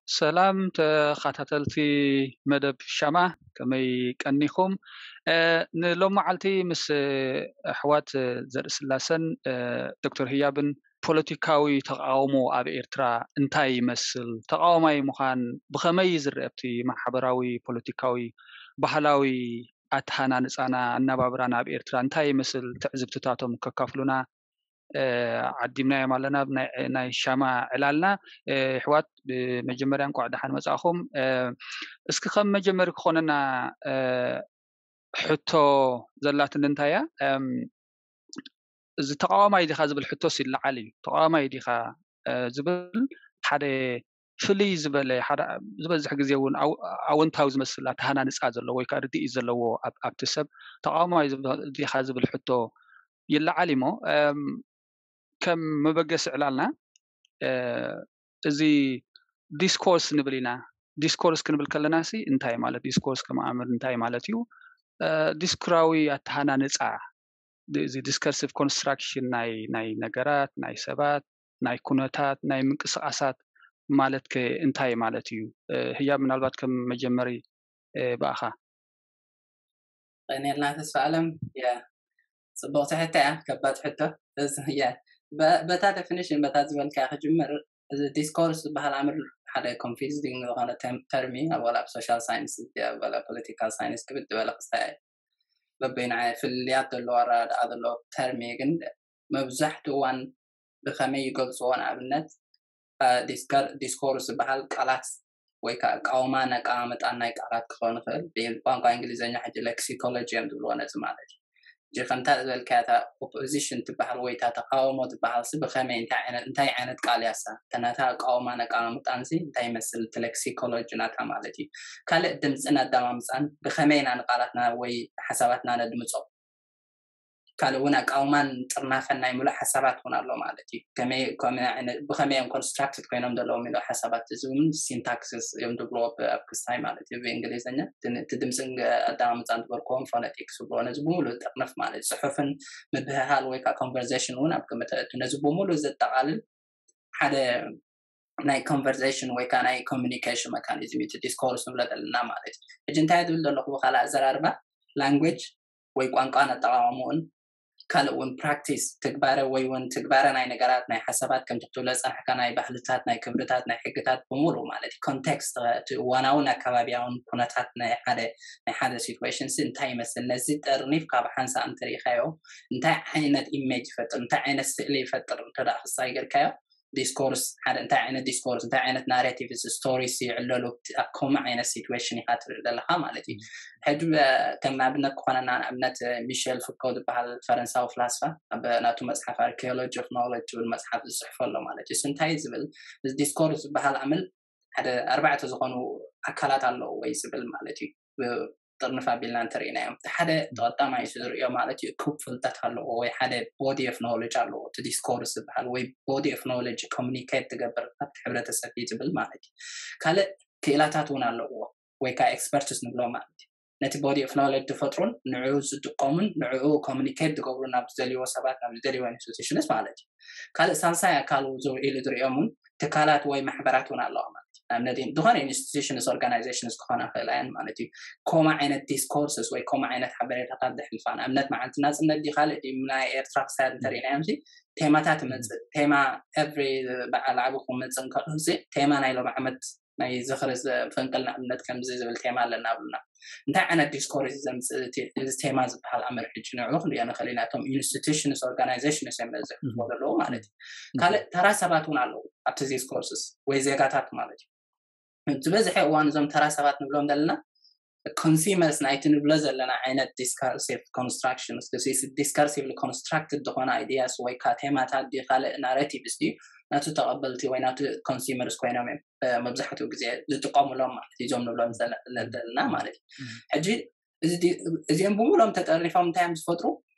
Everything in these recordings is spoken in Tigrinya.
ሰላም ተኸታተልቲ መደብ ሻማ፣ ከመይ ቀኒኹም? ንሎም መዓልቲ ምስ ኣሕዋት ዘርኢ ስላሰን ዶክተር ህያብን ፖለቲካዊ ተቃውሞ ኣብ ኤርትራ እንታይ ይመስል፣ ተቃዋማይ ምዃን ብኸመይ ዝረአ ኣብቲ ማሕበራዊ፣ ፖለቲካዊ፣ ባህላዊ ኣተሃናንፃና፣ ኣነባብራና ኣብ ኤርትራ እንታይ ይመስል ትዕዝብትታቶም ከካፍሉና ዓዲምናዮም ኣለና። ናይ ሻማ ዕላልና። ኣሕዋት፣ ብመጀመርያ እንኳዕ ደሓን መጻእኹም። እስኪ ከም መጀመሪ ክኾነና ሕቶ ዘላትኒ እንታይ እያ፣ እዚ ተቃዋማይ ዲኻ ዝብል ሕቶስ ይለዓል እዩ። ተቃዋማይ ዲኻ ዝብል ሓደ ፍልይ ዝበለ፣ ዝበዝሕ ግዜ እውን ኣወንታዊ ዝመስል ኣተሃናንፃ ዘለዎ ወይ ከዓ ርድኢት ዘለዎ ኣብቲ ሰብ ተቃዋማይ ዲኻ ዝብል ሕቶ ይለዓል እሞ፣ ከም መበገሲ ዕላልና እዚ ዲስኮርስ ንብል ኢና። ዲስኮርስ ክንብል ከለና ሲ እንታይ ማለት፣ ዲስኮርስ ከመኣምር እንታይ ማለት እዩ? ዲስኩራዊ ኣተሃናንፃ፣ እዚ ዲስከርሲቭ ኮንስትራክሽን ናይ ናይ ነገራት፣ ናይ ሰባት፣ ናይ ኩነታት፣ ናይ ምንቅስቃሳት ማለት ከ እንታይ ማለት እዩ? ህያብ፣ ምናልባት ከም መጀመሪ ብኣኻ። ቀኒልና ተስፋ ኣለም። ጽቡቅ ትሕታ እያ፣ ከባድ ሕቶ። በታ ዴፊኒሽን፣ በታ ዝበልካ ክጅምር። እዚ ዲስኮርስ ዝበሃል ኣምር ሓደ ኮንፊዚንግ ዝኾነ ተርሚ፣ ኣብ ወላ ኣብ ሶሻል ሳይንስ፣ ኣብ ወላ ፖለቲካል ሳይንስ ክብድ ዝበለ ክስታይ በበይና ፍልልያት ዘለዎ ኣረዳድኣ ዘለዎ ተርሚ፣ ግን መብዛሕትኡ እዋን ብኸመይ ይገልፅዎ? ንኣብነት ዲስኮርስ ዝበሃል ቃላት ወይ ከዓ ቃውማ ነቃመጣን ናይ ቃላት ክኸውን ይኽእል። ብቋንቋ እንግሊዝኛ ሕጂ ሌክሲኮሎጂ እዮም ዝብልዎ ነዚ ማለት እዩ። ሕጂ ከምታ ዝበልካያ እታ ኦፖዚሽን ትበሃል ወይ እታ ተቃውሞ ትበሃል ሲ ብኸመይ እንታይ ዓይነት እንታይ ዓይነት ቃል ያሳ ተናታ ቃውማ ነቃመጣን ሲ እንታይ ይመስል እቲ ሌክሲኮሎጂ ናታ ማለት እዩ። ካልእ ድምፅን ኣዳማምፃን ብኸመይ ኢና ንቃላትና ወይ ሓሳባትና ነድምፆ ካልእ እውን ኣቃውማን ጥርናፈን ናይ ምሉእ ሓሳባት እውን ኣሎ ማለት እዩ። ብኸመይ እዮም ኮንስትራክትድ ኮይኖም ዘለዎም ምሉእ ሓሳባት እዚ እውን ሲንታክሲስ እዮም ዝብልዎ ኣብ ክስታይ ማለት እዩ ብእንግሊዝኛ። እቲ ድምፅን ኣዳማምፃን ዝበልክዎም ፎነቲክስ ዝብልዎ ነዚ ብምሉእ ዝጥርንፍ ማለት እዩ። ፅሑፍን ምብህሃል ወይ ከዓ ኮንቨርሴሽን እውን ኣብ ግምት ኣእቱ። ነዚ ብምሉእ ዘጠቃልል ሓደ ናይ ኮንቨርሴሽን ወይ ከዓ ናይ ኮሚኒኬሽን መካኒዝም እዩ ዲስኮርስ ንብሎ ዘለና ማለት እዩ። ሕጂ እንታይ ዝብል ዘለኹ ብካልእ ኣዘራርባ ላንጉጅ ወይ ቋንቋን ኣጠቃቅምኡን ካልእ እውን ፕራክቲስ ትግባረ ወይ እውን ትግባረ ናይ ነገራት ናይ ሓሳባት ከምቲ ክትብሎ ዝፀናሕካ ናይ ባህልታት ናይ ክብርታት ናይ ሕግታት ብምሉእ ማለት እዩ ኮንቴክስት እቲ እዋናውን ኣከባቢያውን ኩነታት ናይ ሓደ ናይ ሓደ ሲትዌሽን ሲ እንታይ ይመስል ነዚ ጠርኒፍ ካብ ሓንሳእ እንትርኢካዮ እንታይ ዓይነት ኢሜጅ ይፈጥር እንታይ ዓይነት ስእሊ ይፈጥር እንተ ክሳይ ጌርካዮ ዲስኮርስ ሓደ እንታይ ዓይነት ዲስኮርስ እንታይ ዓይነት ናሬቲቭ ስቶሪስ ይዕለሉ ኣብ ከምኡ ዓይነት ሲትዌሽን ኢካ ትርኢ ዘለካ ማለት እዩ። ሕጂ ከም ኣብነት ክኾነና ንኣብነት ሚሸል ፉኮ ዝበሃል ፈረንሳዊ ፍላስፋ ኣብ ናቱ መፅሓፍ ኣርኪኦሎጂ ኦፍ ኖሌጅ ዝብል መፅሓፍ ዝፅሕፎ ኣሎ ማለት እዩ። እንታይ ዝብል ዲስኮርስ ዝበሃል ኣምል ሓደ ኣርባዕተ ዝኾኑ ኣካላት ኣለዎ ወይ ዝብል ማለት እዩ። ጥርንፍ ኣቢልና እንተርኢናዮም እቲ ሓደ ተቐዳማይ እሱ ዝርእዮ ማለት እዩ እኩብ ፍልጠት ኣለዎ ወይ ሓደ ቦዲ ኦፍ ኖሌጅ ኣለዎ እቲ ዲስኮርስ ዝበሃል ወይ ቦዲ ኦፍ ኖሌጅ ኮሚኒኬት ትገብር ኣብቲ ሕብረተሰብ እዩ ዝብል ማለት እዩ። ካልእ ክእላታት እውን ኣለዎ ወይ ከዓ ኤክስፐርትስ ንብሎ ማለት እዩ። ነቲ ቦዲ ኦፍ ኖሌጅ ዝፈጥሩን ንዕኡ ዝጥቀሙን ንዕኡ ኮሚኒኬት ዝገብሩ ናብ ዝደልይዎ ሰባት ናብ ዝደልይዎ ኢንስቲቱሽንስ ማለት እዩ። ካልእ ሳልሳይ ኣካል ኢሉ ዝርእዮም እውን ትካላት ወይ ማሕበራት እውን ኣለዋ ማለት እዩ። ንኣብነት ዝኾነ ኢንስቲቱሽንስ ኦርጋናይዜሽንስ ክኾና ክእል ኣየን ማለት እዩ። ኮማ ዓይነት ዲስኮርስስ ወይ ኮማ ዓይነት ሓበሬታታት ዘሕልፋ ንኣብነት መዓልቲ ናፅነት ዲ ካልእ ዲ ናይ ኤርትራ ክሳድ እንተርኢናዮም ሲ ቴማታት ይመፅእ ቴማ ኤቭሪ በዓል ዓቢ ክመፅእ እንከሎ ሲ ቴማ ናይ ሎም ዓመት ናይ ዝኽሪ ፈንቅል ንኣብነት ከምዚ ዝብል ቴማ ኣለና ብሉና እንታይ ዓይነት ዲስኮርስ እዩ ዘምፅእ እዚ ቴማ ዝበሃል ኣምር ሕጂ ንዕኡ ክንሪኦ ንኽእል ኢና እቶም ኢንስቲቱሽንስ ኦርጋናይዜሽንስ እዮም ዘሕልፎ ዘለዉ ማለት እዩ። ካልእ ተራ ሰባት እውን ኣለዉ ኣብቲ ዲስኮርስስ ወይ ዜጋታት ማለት እዩ። ዝበዝሐ እዋን እዞም ተራ ሰባት ንብሎም ዘለና ኮንሱመርስ ናይቲ ንብሎ ዘለና ዓይነት ዲስካርሲቭ ኮንስትራክሽን ዲስካርሲቭሊ ኮንስትራክትድ ዝኾነ ኣይዲያስ ወይ ከዓ ቴማታት ዲ ካልእ ናሬቲቭስ ድዩ ናቱ ተቐበልቲ ወይ ናቱ ኮንሱመርስ ኮይኖም እዮም መብዛሕትኡ ግዜ ዝጥቀሙሎም ማለት እዩ። እዞም ንብሎም ዘለና ማለት እዩ። ሕጂ እዚኦም ብምሎም ተጠርኒፎም እንታይ እዮም ዝፈጥሩ?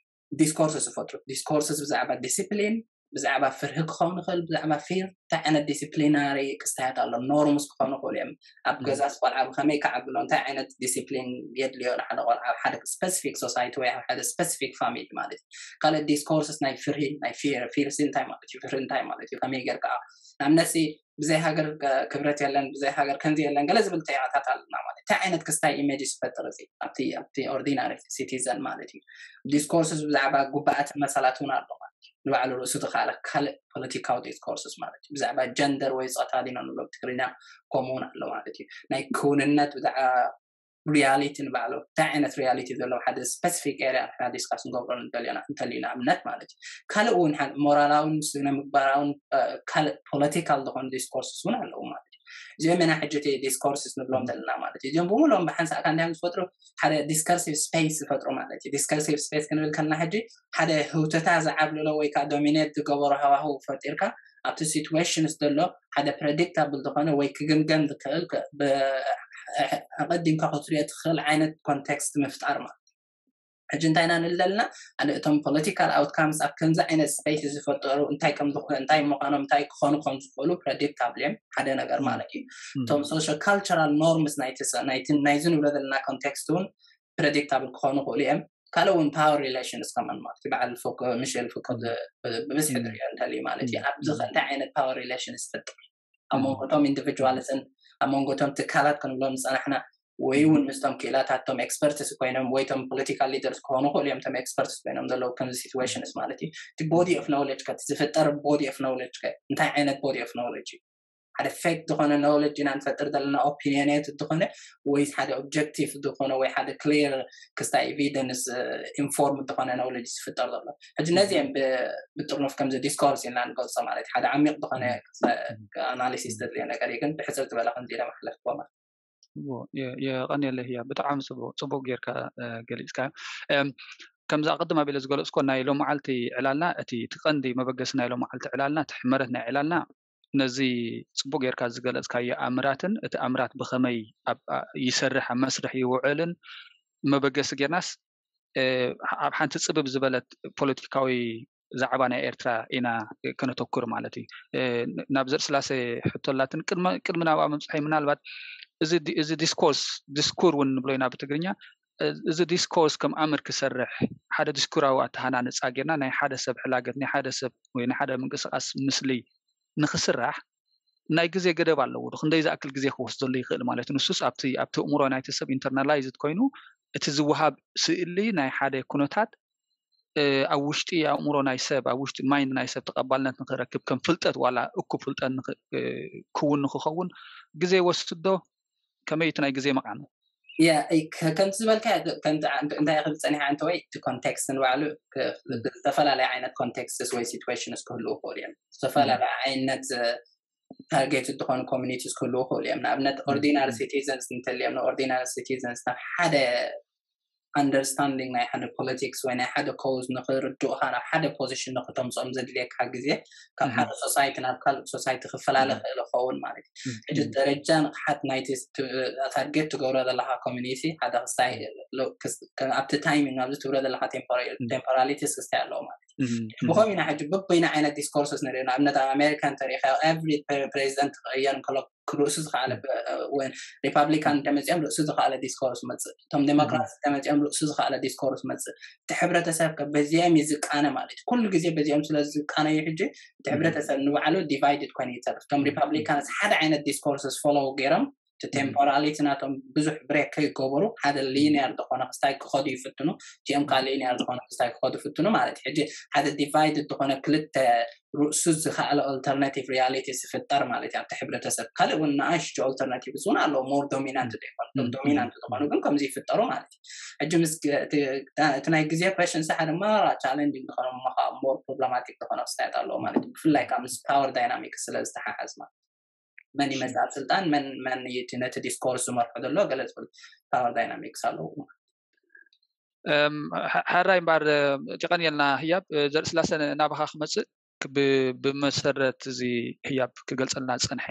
ዲስኮርስ ዝፈጥሩ ዲስኮርስ ብዛዕባ ዲስፕሊን ብዛዕባ ፍርሂ ክኸውን ይኽእል ብዛዕባ ፊር እንታይ ዓይነት ዲስፕሊናሪ ክስታያት ኣሎ ኖርምስ ክኾኑ ይኽእሉ እዮም። ኣብ ገዛስ ቆልዓ ብከመይ ክዓብሎ እንታይ ዓይነት ዲስፕሊን የድልዮ ንሓደ ቆልዓ ኣብ ሓደ ስፐሲፊክ ሶሳይቲ ወይ ኣብ ሓደ ስፐሲፊክ ፋሚሊ ማለት እዩ። ካልእ ዲስኮርስስ ናይ ፍርሂ ናይ ፊር ፊርሲ እንታይ ማለት እዩ ፍርሂ እንታይ ማለት እዩ ከመይ ጌርካ ንኣብነትሲ ብዘይ ሃገር ክብረት የለን፣ ብዘይ ሃገር ከምዚ የለን፣ ገለ ዝብል ቴማታት ኣለና ማለት። እንታይ ዓይነት ክስታይ ኢሜጅ ዝፈጥር እዚ ኣብቲ ኣብቲ ኦርዲናሪ ሲቲዘን ማለት እዩ። ዲስኮርስስ ብዛዕባ ጉባኣት መሰላት እውን ኣሎ ማለት እዩ። ንባዕሉ ርእሱ ዝኸኣለ ካልእ ፖለቲካዊ ዲስኮርስስ ማለት እዩ። ብዛዕባ ጀንደር ወይ ፆታ ዲና ንብሎ ብትግርኛ ከምኡ እውን ኣሎ ማለት እዩ። ናይ ክውንነት ብዛዕባ ሪያሊቲ ንባዕሉ እንታይ ዓይነት ሪያሊቲ ዘለዎ ሓደ ስፐሲፊክ ኤሪያ ንሕና ዲስካስ ንገብሮ እንተሊና እንተሊና እምነት ማለት እዩ። ካልእ እውን ሞራላውን ስነ ምግባራውን ካልእ ፖለቲካል ዝኾኑ ዲስኮርስስ እውን ኣለዉ ማለት እዩ። እዚኦም ኢና ሕጂ እቲ ዲስኮርስስ ንብሎም ዘለና ማለት እዩ። እዚኦም ብምሎም ብሓንሳእ ካብ እንታይ ዝፈጥሩ ሓደ ዲስከርሲቭ ስፔስ ዝፈጥሩ ማለት እዩ። ዲስከርሲቭ ስፔስ ክንብል ከለና ሕጂ ሓደ ህውተታ ዝዓብልሎ ወይ ከዓ ዶሚኔት ዝገበሮ ሃዋህው ፈጢርካ ኣብቲ ሲትዌሽንስ ዘሎ ሓደ ፕረዲክታብል ዝኾነ ወይ ክግምገም ዝክእል ኣቐዲምካ ክትሪኦ ትኽእል ዓይነት ኮንቴክስት ምፍጣር ማለት ሕጂ እንታይ ኢና ንለልና ኣነ እቶም ፖለቲካል ኣውትካምስ ኣብ ከምዚ ዓይነት ስፔስ ዝፈጠሩ እንታይ ከም እንታይ ምዃኖም እንታይ ክኾኑ ከም ዝኽእሉ ፕረዲክታብል እዮም ሓደ ነገር ማለት እዩ። እቶም ሶሾ ካልቸራል ኖርምስ ናይዚ ንብሎ ዘለና ኮንቴክስት እውን ፕረዲክታብል ክኾኑ ክእሉ እዮም። ካልእ እውን ፓወር ሪሌሽንስ ከማን ማለት በዓል ሚሼል ፉኮ ብብዝሒ ትሪኦ እንተልዩ ማለት እዩ። ኣብዚ እንታይ ዓይነት ፓወር ሪሌሽንስ ዝፈጥር ኣብ መንጎ እቶም ኢንዲቪጁዋልስን ኣብ መንጎ እቶም ትካላት ክንብሎም ዝፀናሕና ወይ እውን ምስቶም ክኢላታት ቶም ኤክስፐርትስ ኮይኖም ወይ ቶም ፖለቲካል ሊደርስ ክኾኑ ክእሉ እዮም። ቶም ኤክስፐርትስ ኮይኖም ዘለዉ ከምዚ ሲትዌሽንስ ማለት እዩ። እቲ ቦዲ ኦፍ ኖውሌጅ ከ ዝፍጠር ቦዲ ኦፍ ኖውሌጅ ከ እንታይ ዓይነት ቦዲ ኦፍ ኖውሌጅ እዩ? ሓደ ፌክ ዝኾነ ኖውሌጅ ኢና ንፈጥር ዘለና ኦፒኒየኔት ዝኾነ ወይስ ሓደ ኦብጀክቲቭ ዝኾነ ወይ ሓደ ክሊር ክስታይ ኤቪደንስ ኢንፎርም ዝኾነ ኖውሌጅ ዝፍጠር ዘሎ? ሕጂ ነዚ እዮም ብጥርኑፍ ከምዚ ዲስኮርስ ኢልና ንገልጾ ማለት ሓደ ዓሚቕ ዝኾነ ኣናሊሲስ ዘድልዮ ነገር እዩ። ግን ብሕፅር ዝበለ ከምዚ ኢለ መሕለፍዎ ማለት የቐንየለ ህያ ብጣዕሚ ፅቡቅ ጌርካ ገሊፅካ። ከምዚ ኣቐድም ኣቢለ ዝገለፅኮ ናይ ሎመዓልቲ ዕላልና እቲ እቲ ቀንዲ መበገሲ ናይ ሎመዓልቲ ዕላልና እቲ ሕመረት ናይ ዕላልና ነዚ ፅቡቅ ጌርካ ዝገለፅካዮ ኣምራትን እቲ ኣምራት ብኸመይ ይሰርሕ ኣብ መስርሕ ይውዕልን መበገሲ ጌርናስ ኣብ ሓንቲ ፅብብ ዝበለት ፖለቲካዊ ዛዕባ ናይ ኤርትራ ኢና ከነተኩር ማለት እዩ። ናብ ዘርእስላሴ ሕቶላትን ቅድሚ ናብኣ ምብፅሐይ ምናልባት እዚ ዲስኮርስ ዲስኩር እውን ንብሎ ኢና ብትግርኛ እዚ ዲስኮርስ ከም ኣምር ክሰርሕ ሓደ ዲስኩራዊ ኣተሃናንፃ ጌርና ናይ ሓደ ሰብ ሕላገት ናይ ሓደ ሰብ ወይ ናይ ሓደ ምንቅስቃስ ምስሊ ንክስራሕ ናይ ግዜ ገደብ ኣለዎ። ክንደይ ዝኣክል ግዜ ክወስደሉ ይኽእል ማለት እዩ። ንሱስ ኣብቲ ኣብቲ እእምሮ ናይቲ ሰብ ኢንተርናላይዝድ ኮይኑ እቲ ዝወሃብ ስእሊ ናይ ሓደ ኩነታት ኣብ ውሽጢ ኣእምሮ ናይ ሰብ ኣብ ውሽጢ ማይንድ ናይ ሰብ ተቐባልነት ንክረክብ ከም ፍልጠት ዋላ እኩብ ፍልጠት ክውን ንክኸውን ግዜ ይወስድ ዶ? ከመይ እቲ ናይ ግዜ መቓን? ከምቲ ዝበልካ እንታይ ክብል ፀኒሓ እንተወይ እቲ ኮንቴክስት ንባዕሉ ዝተፈላለየ ዓይነት ኮንቴክስትስ ወይ ሲትዌሽንስ ክህልው ይኽእሉ እዮም። ዝተፈላለየ ዓይነት ታርጌት ዝኾኑ ኮሚኒቲስ ክህልው ይኽእሉ እዮም። ንኣብነት ኦርዲናሪ ሲቲዘንስ እንተልዮም ንኦርዲናሪ ሲቲዘንስ ናብ ሓደ ኣንደርስታንዲንግ ናይ ሓደ ፖለቲክስ ወይ ናይ ሓደ ኮዝ ንክርድኡካ ናብ ሓደ ፖዚሽን ንክተምፅኦም ዘድልየካ ግዜ ካብ ሓደ ሶሳይቲ ናብ ካልእ ሶሳይቲ ክፈላለ ክእል ይኸውን ማለት እዩ። ሕጂ ደረጃ ንቕሓት ናይቲ ታርጌት ትገብሮ ዘለካ ኮሚኒቲ ሓደ ክስታይ ኣብቲ ታይሚንግ ኣብዚ ትብሎ ዘለካ ቴምፖራሊቲስ ክስታይ ኣለዎ ማለት እዩ። ብኸም ኢና ሕጂ በበይና ዓይነት ዲስኮርስስ ንርኢ። ንኣብነት ኣብ ኣሜሪካ እንተሪኢካ ኤቭሪ ፕሬዚደንት ክቕየር እንከሎ ርእሱ ዝኸኣለ ሪፓብሊካን እንተመፂኦም ርእሱ ዝኸኣለ ዲስኮርስ መፅእ፣ እቶም ዴሞክራት እንተመፂኦም ርእሱ ዝኸኣለ ዲስኮርስ መፅእ። እቲ ሕብረተሰብ በዚኦም እዩ ዝቃነ ማለት እዩ። ኩሉ ግዜ በዚኦም ስለ ዝቃነዩ ሕጂ እቲ ሕብረተሰብ ንባዕሉ ዲቫይድድ ኮይኑ ይተርፍ። እቶም ሪፓብሊካንስ ሓደ ዓይነት ዲስኮርስስ ፎሎው ገይሮም እቲ ቴምፖራሊቲ ናቶም ብዙሕ ብሬክ ከይገበሩ ሓደ ሊኒየር ዝኾነ ክስታይ ክኸዱ ይፍትኑ። እቲኦም ከዓ ሊኒየር ዝኾነ ክስታይ ክኸዱ ይፍትኑ ማለት እዩ። ሕጂ ሓደ ዲቫይድድ ዝኾነ ክልተ ርእሱ ዝኸኣለ ኦልተርናቲቭ ሪያሊቲ ዝፍጠር ማለት እዩ ኣብቲ ሕብረተሰብ። ካልእ እውን ንኣሽቱ ኦልተርናቲቭስ እውን ኣለዉ ሞር ዶሚናንት ዘይኮኑ ዶሚናንት ዝኾኑ ግን ከምዚ ይፍጠሩ ማለት እዩ። ሕጂ ምስ እቲ ናይ ግዜ ኩዌሽን ሳ ሓደ ማራ ቻለንጂንግ ዝኾነ ሞር ፕሮብለማቲክ ዝኾነ ክስታያት ኣለዎ ማለት እዩ። ብፍላይ ከዓ ምስ ፓወር ዳይናሚክስ ስለ ዝተሓሓዝ ማለት መን ይመፅእ ኣብ ስልጣን መን መን ነቲ ዲስኮርስ ዝመርሖ ዘሎ ገለ ዝብል ፓወር ዳይናሚክስ ኣለዎ። ሓራይ እምበር ጀቀንየልና ህያብ ዘርእስላሰ ናባኻ ክመፅእ ብመሰረት እዚ ህያብ ክገልፀልና ዝፀንሐ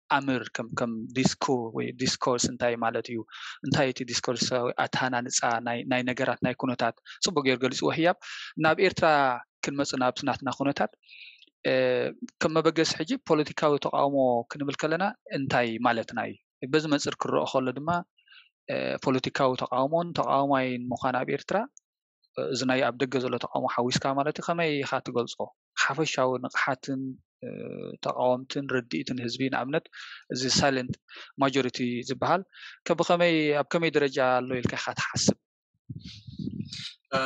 ኣምር ከም ከም ዲስኩር ወይ ዲስኮርስ እንታይ ማለት እዩ እንታይ እቲ ዲስኮርስ ኣተሃናንፃ ናይ ነገራት ናይ ኩነታት ፅቡቅ ገይሩ ገሊፅዎ ህያብ ናብ ኤርትራ ክንመፅእ ናብቲ ናትና ኩነታት ከም መበገሲ ሕጂ ፖለቲካዊ ተቃውሞ ክንብል ከለና እንታይ ማለትና እዩ በዚ መፅር ክረኦ ከሎ ድማ ፖለቲካዊ ተቃውሞን ተቃዋማይን ምዃን ኣብ ኤርትራ እዚ ናይ ኣብ ደገ ዘሎ ተቃውሞ ሓዊስካ ማለት እዩ ከመይ ኢኻ ትገልፆ ሓፈሻዊ ንቕሓትን ተቃወምትን ርድኢትን ህዝቢ፣ ንኣብነት እዚ ሳይለንት ማጆሪቲ ዝበሃል ከብከመይ ኣብ ከመይ ደረጃ ኣሎ ኢልካ ኢኻ ትሓስብ?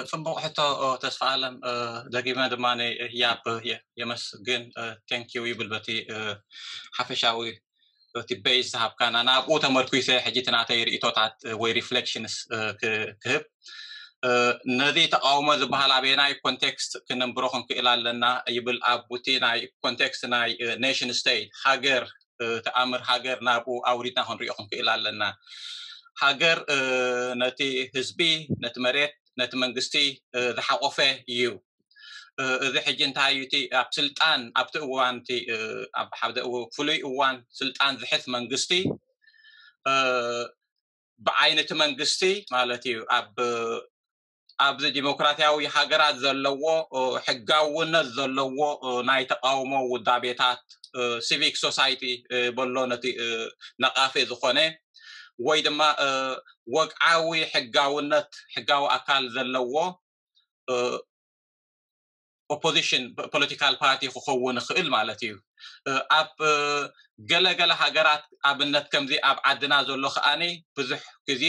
ጽቡቕ ሕቶ ተስፋ ኣለም። ደጊመ ድማ ህያብ የመስግን፣ ቴንኪዩ ይብል በቲ ሓፈሻዊ እቲ ቤዝ ዝሃብካና ናብኡ ተመርኩሰ ሕጂ እቲ ናተይ ርእቶታት ወይ ሪፍሌክሽንስ ክህብ። ነዚ ተቃውሞ ዝበሃል ኣበየናይ ኮንቴክስት ክነንብሮ ክንክእል ኣለና ይብል። ኣብ እቲ ናይ ኮንቴክስት ናይ ኔሽን ስቴት ሃገር ተኣምር ሃገር ናብኡ ኣውሪድና ክንሪኦ ክንክእል ኣለና። ሃገር ነቲ ህዝቢ፣ ነቲ መሬት፣ ነቲ መንግስቲ ዝሓቆፈ እዩ። እዚ ሕጂ እንታይ እዩ እቲ ኣብ ስልጣን ኣብቲ እዋን እቲ ኣብ ሓደ ፍሉይ እዋን ስልጣን ዝሕዝ መንግስቲ ብዓይነቲ መንግስቲ ማለት እዩ ኣብ ኣብዚ ዲሞክራሲያዊ ሃገራት ዘለዎ ሕጋውነት ዘለዎ ናይ ተቃውሞ ውዳቤታት ሲቪክ ሶሳይቲ በሎ ነቲ ነቃፊ ዝኾነ ወይ ድማ ወግዓዊ ሕጋውነት ሕጋዊ ኣካል ዘለዎ ኦፖዚሽን ፖለቲካል ፓርቲ ክኸውን ይኽእል ማለት እዩ። ኣብ ገለገለ ሃገራት ኣብነት ከምዚ ኣብ ዓድና ዘሎ ከኣኒ ብዙሕ ግዜ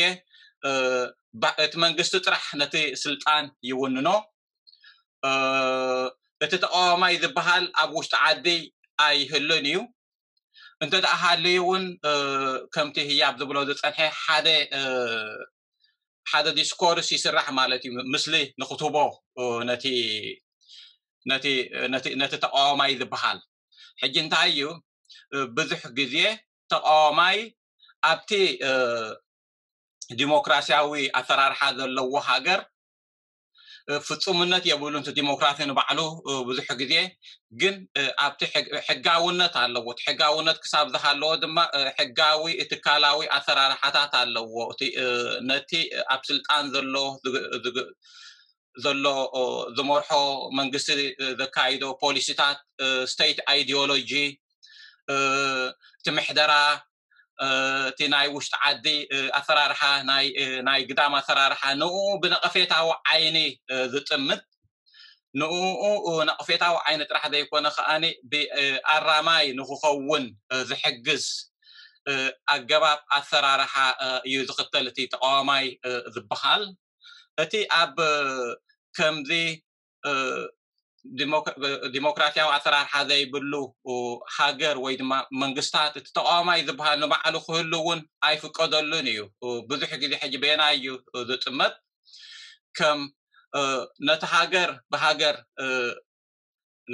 እቲ መንግስቲ ጥራሕ ነቲ ስልጣን ይውንኖ። እቲ ተቃዋማይ ዝበሃል ኣብ ውሽጢ ዓዲ ኣይህልን እዩ። እንተ ደኣ ሃልዩ እውን ከምቲ ህያብ ዝብሎ ዝጸንሐ ሓደ ሓደ ዲስኮርስ ይስራሕ ማለት እዩ። ምስሊ ንክትህቦ ነቲ ነቲ ነቲ ነቲ ተቃዋማይ ዝበሃል ሕጂ እንታይ እዩ ብዙሕ ግዜ ተቃዋማይ ኣብቲ ዲሞክራሲያዊ ኣሰራርሓ ዘለዎ ሃገር ፍጹምነት የብሉን። እቲ ዲሞክራሲ ንባዕሉ ብዙሕ ግዜ ግን ኣብቲ ሕጋውነት ኣለዎ። እቲ ሕጋውነት ክሳብ ዝሃለዎ ድማ ሕጋዊ ትካላዊ ኣሰራርሓታት ኣለዎ። ነቲ ኣብ ስልጣን ዘሎ ዘሎ ዝመርሖ መንግስቲ ዘካይዶ ፖሊሲታት፣ ስቴት ኣይዲዮሎጂ፣ እቲ ምሕደራ፣ እቲ ናይ ውሽጢ ዓዲ ኣሰራርሓ፣ ናይ ግዳም ኣሰራርሓ ንኡ ብነቐፌታዊ ዓይኒ ዝጥምት ንኡ ነቐፌታዊ ዓይኒ ጥራሕ ዘይኮነ ከኣ ኣራማይ ንክኸውን ዝሕግዝ ኣገባብ ኣሰራርሓ እዩ ዝኽተል እቲ ተቃዋማይ ዝበሃል። እቲ ኣብ ከምዚ ዲሞክራሲያዊ ኣሰራርሓ ዘይብሉ ሃገር ወይ ድማ መንግስታት እቲ ተቃዋማይ ዝበሃል ንባዕሉ ክህሉ እውን ኣይፍቀደሉን እዩ። ብዙሕ ግዜ ሕጂ በየናይ እዩ ዝጥመት? ከም ነቲ ሃገር ብሃገር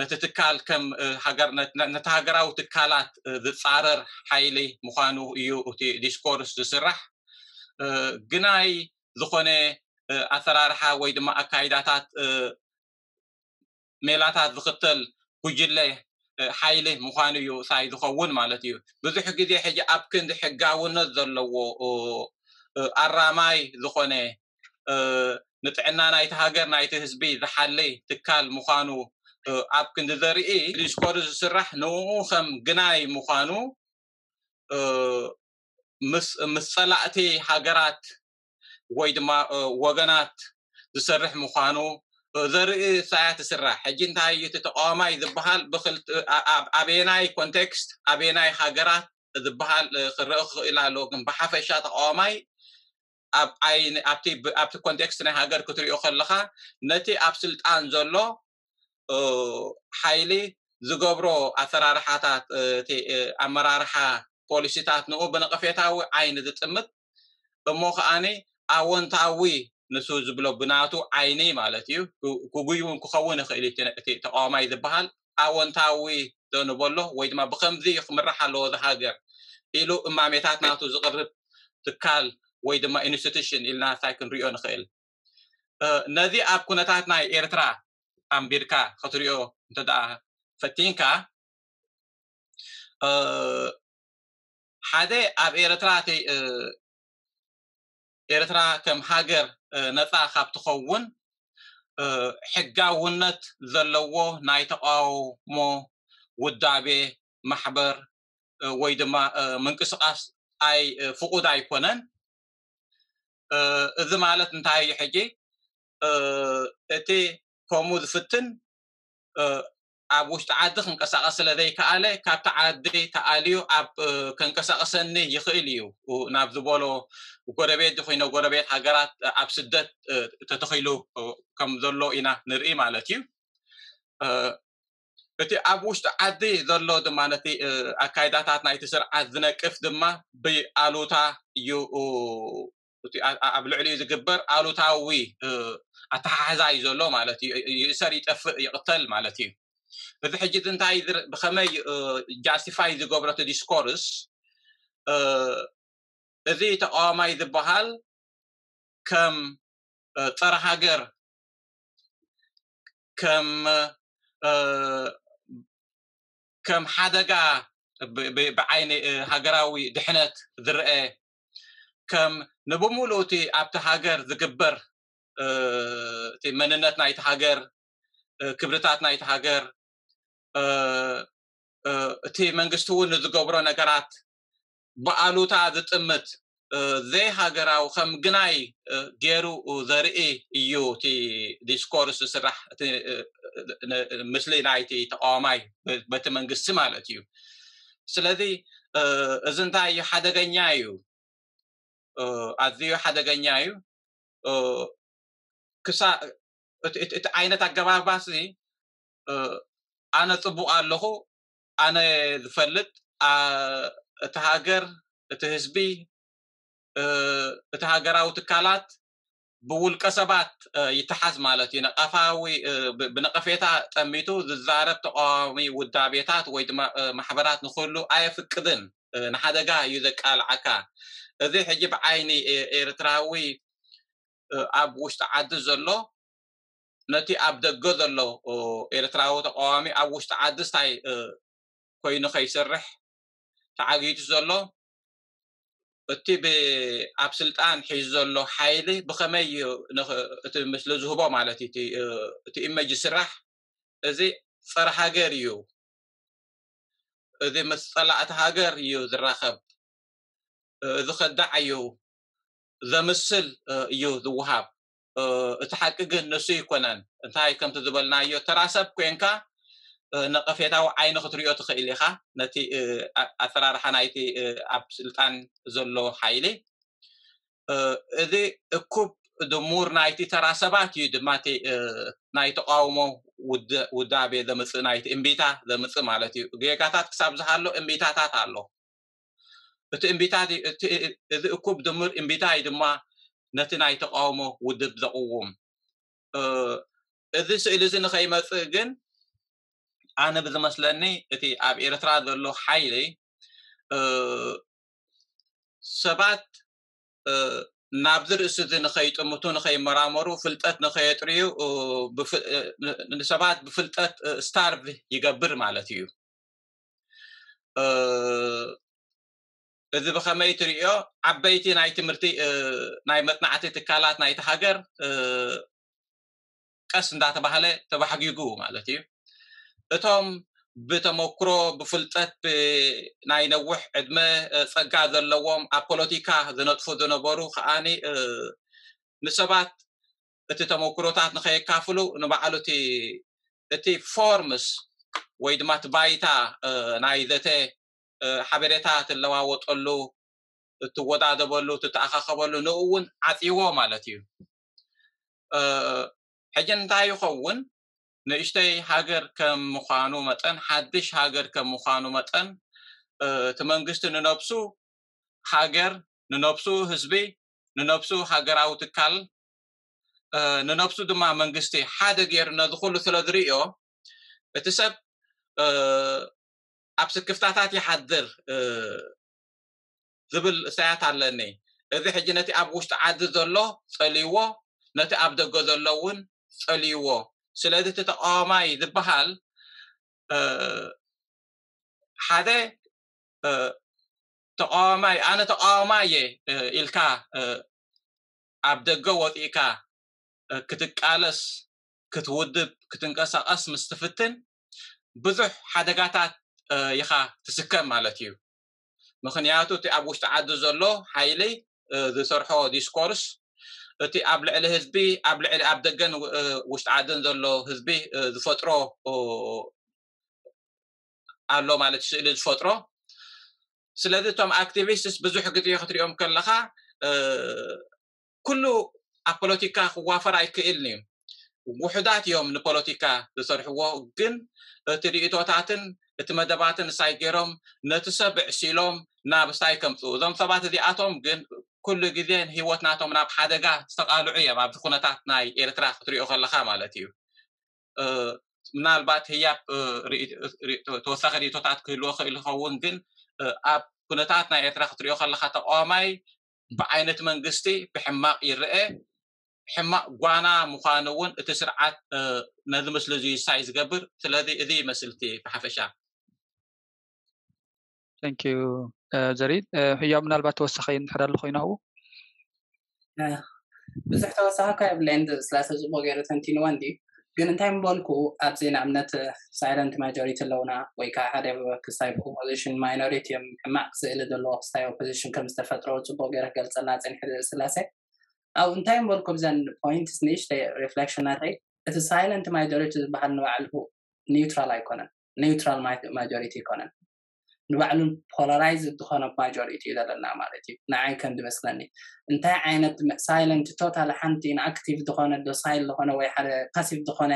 ነቲ ትካል ከም ሃገር ነቲ ሃገራዊ ትካላት ዝጻረር ሓይሊ ምዃኑ እዩ እቲ ዲስኮርስ ዝስራሕ። ግናይ ዝኾነ ኣሰራርሓ ወይ ድማ ኣካይዳታት ሜላታት ዝኽተል ጉጅለ ሓይሊ ምዃኑ እዩ ሳይ ዝኸውን ማለት እዩ። ብዙሕ ግዜ ሕጂ ኣብ ክንዲ ሕጋውነት ዘለዎ ኣራማይ ዝኾነ ንጥዕና ናይቲ ሃገር ናይቲ ህዝቢ ዝሓሊ ትካል ምዃኑ ኣብ ክንዲ ዘርኢ ዲስኮርስ ዝስራሕ ንኡ ከም ግናይ ምዃኑ ምስ ጸላእቲ ሃገራት ወይ ድማ ወገናት ዝሰርሕ ምዃኑ ዘርኢ ሳያት ይስራሕ። ሕጂ እንታይ እዩ እቲ ተቃዋማይ ዝበሃል ኣበየናይ ኮንቴክስት ኣበየናይ ሃገራት ዝበሃል ክረአ ክኽእል ኣለዎ። ግን ብሓፈሻ ተቃዋማይ ኣብቲ ኮንቴክስት ናይ ሃገር ክትሪኦ ከለካ ነቲ ኣብ ስልጣን ዘሎ ሓይሊ ዝገብሮ ኣሰራርሓታት ኣመራርሓ ፖሊሲታት ንኡ ብነቐፌታዊ ዓይኒ ዝጥምት እሞ ከኣኒ ኣወንታዊ ንሱ ዝብሎ ብናቱ ዓይኒ ማለት እዩ። ክጉይ እውን ክኸውን ይኽእል እቲ ተቃዋማይ ዝበሃል ኣወንታዊ ዘንበሎ ወይ ድማ ብከምዚ ክምራሕ ኣለዎ ዝሃገር ኢሉ እማሜታት ናቱ ዝቕርብ ትካል ወይ ድማ ኢንስቲቱሽን ኢልና እንታይ ክንሪኦ ንኽእል። ነዚ ኣብ ኩነታት ናይ ኤርትራ ኣንቢርካ ክትሪኦ እንተ ፈቲንካ ሓደ ኣብ ኤርትራ እቲ ኤርትራ ከም ሃገር ነፃ ካብ ትኸውን ሕጋውነት ዘለዎ ናይ ተቃውሞ ውዳቤ ማሕበር ወይ ድማ ምንቅስቃስ ኣይ ፍቁድ ኣይኮነን። እዚ ማለት እንታይ እዩ? ሕጂ እቲ ከምኡ ዝፍትን ኣብ ውሽጢ ዓዲ ክንቀሳቐስ ስለ ዘይከኣለ ካብቲ ዓዲ ተኣልዩ ኣብ ከንቀሳቐሰኒ ይኽእል እዩ ናብ ዝበሎ ጎረቤት ዝኾይነ ጎረቤት ሃገራት ኣብ ስደት ተተኺሉ ከም ዘሎ ኢና ንርኢ ማለት እዩ። እቲ ኣብ ውሽጢ ዓዲ ዘሎ ድማ ነቲ ኣካይዳታት ናይቲ ስርዓት ዝነቅፍ ድማ ብኣሉታ እዩ። ኣብ ልዕሊኡ ዝግበር ኣሉታዊ ኣተሓሕዛ እዩ ዘሎ ማለት እዩ። ይእሰር፣ ይጠፍእ፣ ይቕተል ማለት እዩ። እዚ ሕጂ እዚ እንታይ ብኸመይ ጃስቲፋይ ዝገብሮ እቲ ዲስኮርስ? እዚ ተቃዋማይ ዝበሃል ከም ጸረ ሃገር፣ ከም ከም ሓደጋ ብዓይኒ ሃገራዊ ድሕነት ዝረአ፣ ከም ንብምሉኡ እቲ ኣብቲ ሃገር ዝግበር እቲ መንነት ናይቲ ሃገር፣ ክብርታት ናይቲ ሃገር፣ እቲ መንግስቲ እውን ንዝገብሮ ነገራት ብኣሉታ ዝጥምት ዘይሃገራዊ ከም ግናይ ገይሩ ዘርኢ እዩ እቲ ዲስኮርስ ዝስራሕ፣ እቲ ምስሊ ናይቲ ተቃዋማይ በቲ መንግስቲ ማለት እዩ። ስለዚ እዚ እንታይ እዩ? ሓደገኛ እዩ፣ ኣዝዩ ሓደገኛ እዩ። ክሳ እቲ ዓይነት ኣገባባሲ ኣነ ጽቡቕ ኣለኹ፣ ኣነ ዝፈልጥ፣ እቲ ሃገር፣ እቲ ህዝቢ፣ እቲ ሃገራዊ ትካላት ብውልቀ ሰባት ይተሓዝ ማለት እዩ። ነቀፋዊ ብነቀፌታ ጠሚቱ ዝዛረብ ተቃዋሚ ውዳቤታት ወይ ድማ ማሕበራት ንክህሉ ኣየፍቅድን። ንሓደጋ እዩ ዘቃልዓካ። እዚ ሕጂ ብዓይኒ ኤርትራዊ ኣብ ውሽጢ ዓዲ ዘሎ ነቲ ኣብ ደገ ዘሎ ኤርትራዊ ተቃዋሚ ኣብ ውሽጢ ዓዲ ስታይ ኮይኑ ከይሰርሕ ተዓጊቱ ዘሎ፣ እቲ ኣብ ስልጣን ሒዙ ዘሎ ሓይሊ ብኸመይ እዩ እቲ ምስሊ ዝህቦ ማለት እዩ። እቲ ኢመጅ ዝስራሕ እዚ ጸረ ሃገር እዩ። እዚ ምስ ጸላእቲ ሃገር እዩ ዝራኸብ። እዚ ከዳዕ እዩ፣ ዘምስል እዩ ዝወሃብ። እቲ ሓቂ ግን ንሱ ይኮነን። እንታይ ከምቲ ዝበልናዮ ተራ ሰብ ኮንካ ነቀፌታዊ ዓይኒ ክትሪኦ ትኽእል ኢኻ ነቲ ኣሰራርሓ ናይቲ ኣብ ስልጣን ዘሎ ሓይሊ። እዚ እኩብ ድሙር ናይቲ ተራ ሰባት እዩ ድማ እቲ ናይ ተቃውሞ ውዳቤ ዘምፅእ፣ ናይቲ እምቢታ ዘምፅእ ማለት እዩ። ጌጋታት ክሳብ ዝሃሎ እምቢታታት ኣሎ። እቲ እምቢታ እዚ እኩብ ድሙር እምቢታ እዩ ድማ ነቲ ናይ ተቃውሞ ውድብ ዘቕውም። እዚ ስእሊ እዚ ንኸይመፅእ ግን ኣነ ብዝመስለኒ እቲ ኣብ ኤርትራ ዘሎ ሓይሊ ሰባት ናብዚ ርእሲ እዚ ንኸይጥምቱ፣ ንኸይመራመሩ፣ ፍልጠት ንኸየጥርዩ ንሰባት ብፍልጠት ስታርቭ ይገብር ማለት እዩ። እዚ ብኸመይ ትርእዮ? ዓበይቲ ናይ ትምህርቲ ናይ መጽናዕቲ ትካላት ናይቲ ሃገር ቀስ እንዳተባህለ ተባሕጊጉ ማለት እዩ። እቶም ብተመክሮ ብፍልጠት ናይ ነዊሕ ዕድመ ጸጋ ዘለዎም ኣብ ፖለቲካ ዝነጥፉ ዝነበሩ ከዓኒ ንሰባት እቲ ተመክሮታት ንኸየካፍሉ ንባዕሉ እቲ ፎርምስ ወይ ድማ እቲ ባይታ ናይ ዘተ ሓበሬታ ትለዋወጠሉ፣ እትወዳደበሉ፣ ትተኣኻኸበሉ ንኡ እውን ዓፅይዎ ማለት እዩ። ሕጂ እንታይ ይኸውን? ንእሽተይ ሃገር ከም ምዃኑ መጠን፣ ሓድሽ ሃገር ከም ምዃኑ መጠን እቲ መንግስቲ ንነብሱ ሃገር፣ ንነብሱ ህዝቢ፣ ንነብሱ ሃገራዊ ትካል፣ ንነብሱ ድማ መንግስቲ ሓደ ገይሩ ነዚ ኩሉ ስለ ዝርእዮ እቲ ሰብ ኣብ ስክፍታታት ይሓድር ዝብል እሳያት ኣለኒ። እዚ ሕጂ ነቲ ኣብ ውሽጢ ዓዲ ዘሎ ጸልይዎ፣ ነቲ ኣብ ደገ ዘሎ እውን ጸልይዎ። ስለዚ እቲ ተቃዋማይ ዝበሃል ሓደ ተቃዋማይ፣ ኣነ ተቃዋማይ እየ ኢልካ ኣብ ደገ ወፂእካ ክትቃለስ፣ ክትውድብ፣ ክትንቀሳቀስ ምስ ትፍትን ብዙሕ ሓደጋታት ኢኻ ትስከም ማለት እዩ። ምክንያቱ እቲ ኣብ ውሽጢ ዓዲ ዘሎ ሓይሊ ዝሰርሖ ዲስኮርስ፣ እቲ ኣብ ልዕሊ ህዝቢ፣ ኣብ ልዕሊ ኣብ ደገን ውሽጢ ዓድን ዘሎ ህዝቢ ዝፈጥሮ ኣሎ ማለት ስእሊ ዝፈጥሮ። ስለዚ እቶም ኣክቲቪስትስ ብዙሕ ግዜ ክትሪኦም ከለኻ ኩሉ ኣብ ፖለቲካ ክዋፈር ኣይክእልን እዩ። ውሑዳት እዮም ንፖለቲካ ዝሰርሕዎ፣ ግን እቲ ርእቶታትን እቲ መደባትን ሳይ ገይሮም ነቲ ሰብ ዕሲሎም ናብ ሳይ ከምፅኡ። እዞም ሰባት እዚኣቶም ግን ኩሉ ግዜ ንህይወት ናቶም ናብ ሓደጋ ዝተቓልዑ እዮም። ኣብዚ ኩነታት ናይ ኤርትራ ክትሪኦ ከለኻ ማለት እዩ። ምናልባት ህያብ ተወሳኺ ርእቶታት ክህልዎ ክእል ይኸውን፣ ግን ኣብ ኩነታት ናይ ኤርትራ ክትሪኦ ከለኻ ተቃዋማይ ብዓይነት መንግስቲ ብሕማቕ ይረአ። ሕማቕ ጓና ምዃኑ እውን እቲ ስርዓት ነዚ ምስሊ እዚ ሳይ ዝገብር። ስለዚ እዚ ይመስል እቲ ብሓፈሻ። Thank you ዘሪድ። ህያብ ምናልባት ተወሳኺ እንድሕር ኣሎ ኮይኑ ኣብኡ ብዙሕ ተወሳኺ እኳ የብለይን። ስላሰ ፅቡቅ ገይሩ ተንቲንዋ እንዲ ግን እንታይ ምበልኩ ኣብዚ ንኣብነት ሳይለንት ማጆሪቲ ኣለውና ወይ ከዓ ሓደ ክስታይ ኦፖዚሽን ማይኖሪቲ እዮም ሕማቅ ስእሊ ዘለዎ ክስታይ ኦፖዚሽን ከም ዝተፈጥሮ ፅቡቅ ገይረ ክገልፀልና ፀኒሐ ስላሰ ኣብ እንታይ ምበልኩ ብዘን ፖይንትስ ንእሽተይ ሪፍሌክሽን ናተይ እቲ ሳይለንት ማጆሪቲ ዝበሃል ንባዕሉ ኒውትራል ኣይኮነን። ኒውትራል ማጆሪቲ ኣይኮነን። ንባዕሉ ፖላራይዝ ዝኾነ ማጆሪቲ እዩ ዘለና ማለት እዩ። ንዓይ ከም ዝመስለኒ እንታይ ዓይነት ሳይለንት ቶታል ሓንቲ ኢንኣክቲቭ ዝኾነ ዶሳይል ዝኾነ ወይ ሓደ ፓሲቭ ዝኾነ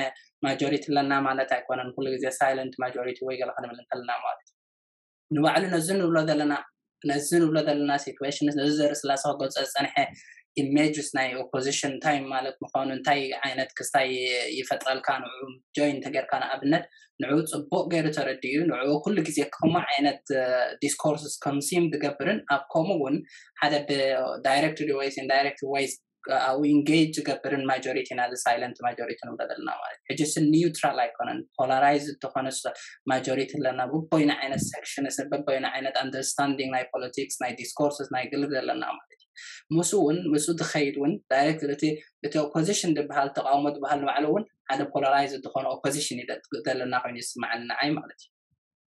ማጆሪቲ ኣለና ማለት ኣይኮነን። ኩሉ ግዜ ሳይለንት ማጆሪቲ ወይ ገለ ክንብል እንከለና ማለት እዩ። ንባዕሉ ነዚ ንብሎ ዘለና ነዚ ንብሎ ዘለና ሲትዌሽን ነዚ ዘርኢ ስላሰ ክገልፆ ዝፀንሐ ኢሜጅስ ናይ ኦፖዚሽን እንታይ ማለት ምዃኑ እንታይ ዓይነት ክስታይ ይፈጥረልካ ንዑ ጆይን ተገርካ ንኣብነት ንዑ ፅቡቅ ገይሩ ተረዲኡ ንዑ ኩሉ ግዜ ከምኡ ዓይነት ዲስኮርስ ኮንሲም ዝገብርን ኣብ ከምኡ እውን ሓደ ብዳይሬክት ወይስ ኢንዳይሬክት ወይስ ኣብኡ ኢንጌጅ ዝገብርን ማጆሪቲ ኢና ሳይለንት ማጆሪቲ ንብሎ ዘለና ማለት ሕጂ ስ ኒውትራል ኣይኮነን። ፖላራይዝ ዝኾነ ማጆሪቲ ኣለና በቦይና ዓይነት ሴክሽንስ በቦይና ዓይነት ኣንደርስታንዲንግ ናይ ፖለቲክስ ናይ ዲስኮርስስ ናይ ግልብ ዘለና ማለት እዩ። ምስ እውን ምስ ዝኸይድ እውን ዳይሬክት እቲ እቲ ኦፖዚሽን ዝበሃል ተቃውሞ ዝበሃል ንባዕሉ እውን ሓደ ፖላራይዝ ዝኾነ ኦፖዚሽን እዩ ዘለና ኮይኑ ይስማዓኒ ንዓይ ማለት እዩ።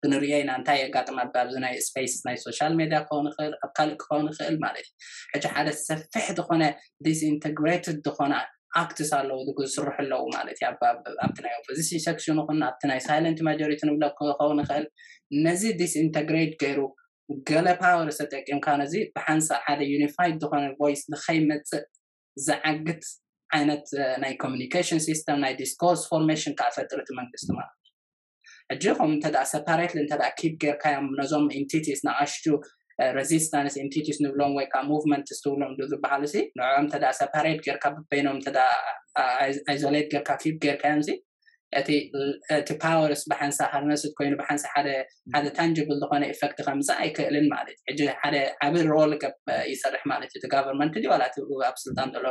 ክንሪኦ ኢና እንታይ የጋጥም ኣብዚ ናይ ስፔስ ናይ ሶሻል ሜድያ ክኸውን ይኽእል ኣብ ካልእ ክኸውን ይኽእል ማለት እዩ። ሕጂ ሓደ ሰፊሕ ዝኾነ ዲስኢንተግሬትድ ዝኾነ ኣክትስ ኣለዉ ዝስርሑ ኣለዉ ማለት እዩ። ኣብቲ ናይ ኦፖዚሽን ሴክሽን ይኹን ኣብቲ ናይ ሳይለንት ማጆሪቲ ንብሎ ክኸውን ይኽእል። ነዚ ዲስኢንተግሬት ገይሩ ገለ ፓወር ተጠቂምካ ነዚ ብሓንሳእ ሓደ ዩኒፋይድ ዝኾነ ቮይስ ንኸይመፅእ ዝዓግት ዓይነት ናይ ኮሚኒኬሽን ሲስተም ናይ ዲስኮርስ ፎርሜሽን ከዓ ፈጥር እቲ መንግስቲ ማለት እዩ። ሕጂ ከም እንተ ሰፓሬትሊ እንተ ኪፕ ጌርካዮም ነዞም ኢንቲቲስ ንኣሽቱ ሬዚስታንስ ኢንቲቲስ ንብሎም ወይ ከዓ ሙቭመንትስ ትብሎም ዶ ዝበሃሉ ሲ ንዕኦም እንተ ሰፓሬት ጌርካ በበይኖም እንተ ኣይዞሌት ጌርካ ኪፕ ጌርካዮም ሲ እቲ እቲ ፓወርስ ብሓንሳ ሃርነስት ኮይኑ ብሓንሳ ሓደ ሓደ ታንጅብል ዝኾነ ኢፌክት ከምፅእ ኣይክእልን ማለት እዩ። ሕጂ ሓደ ዓቢ ሮል ይሰርሕ ማለት እዩ። እቲ ጋቨርንመንት ድዩ ዋላ እቲ ኣብ ስልጣን ዘሎ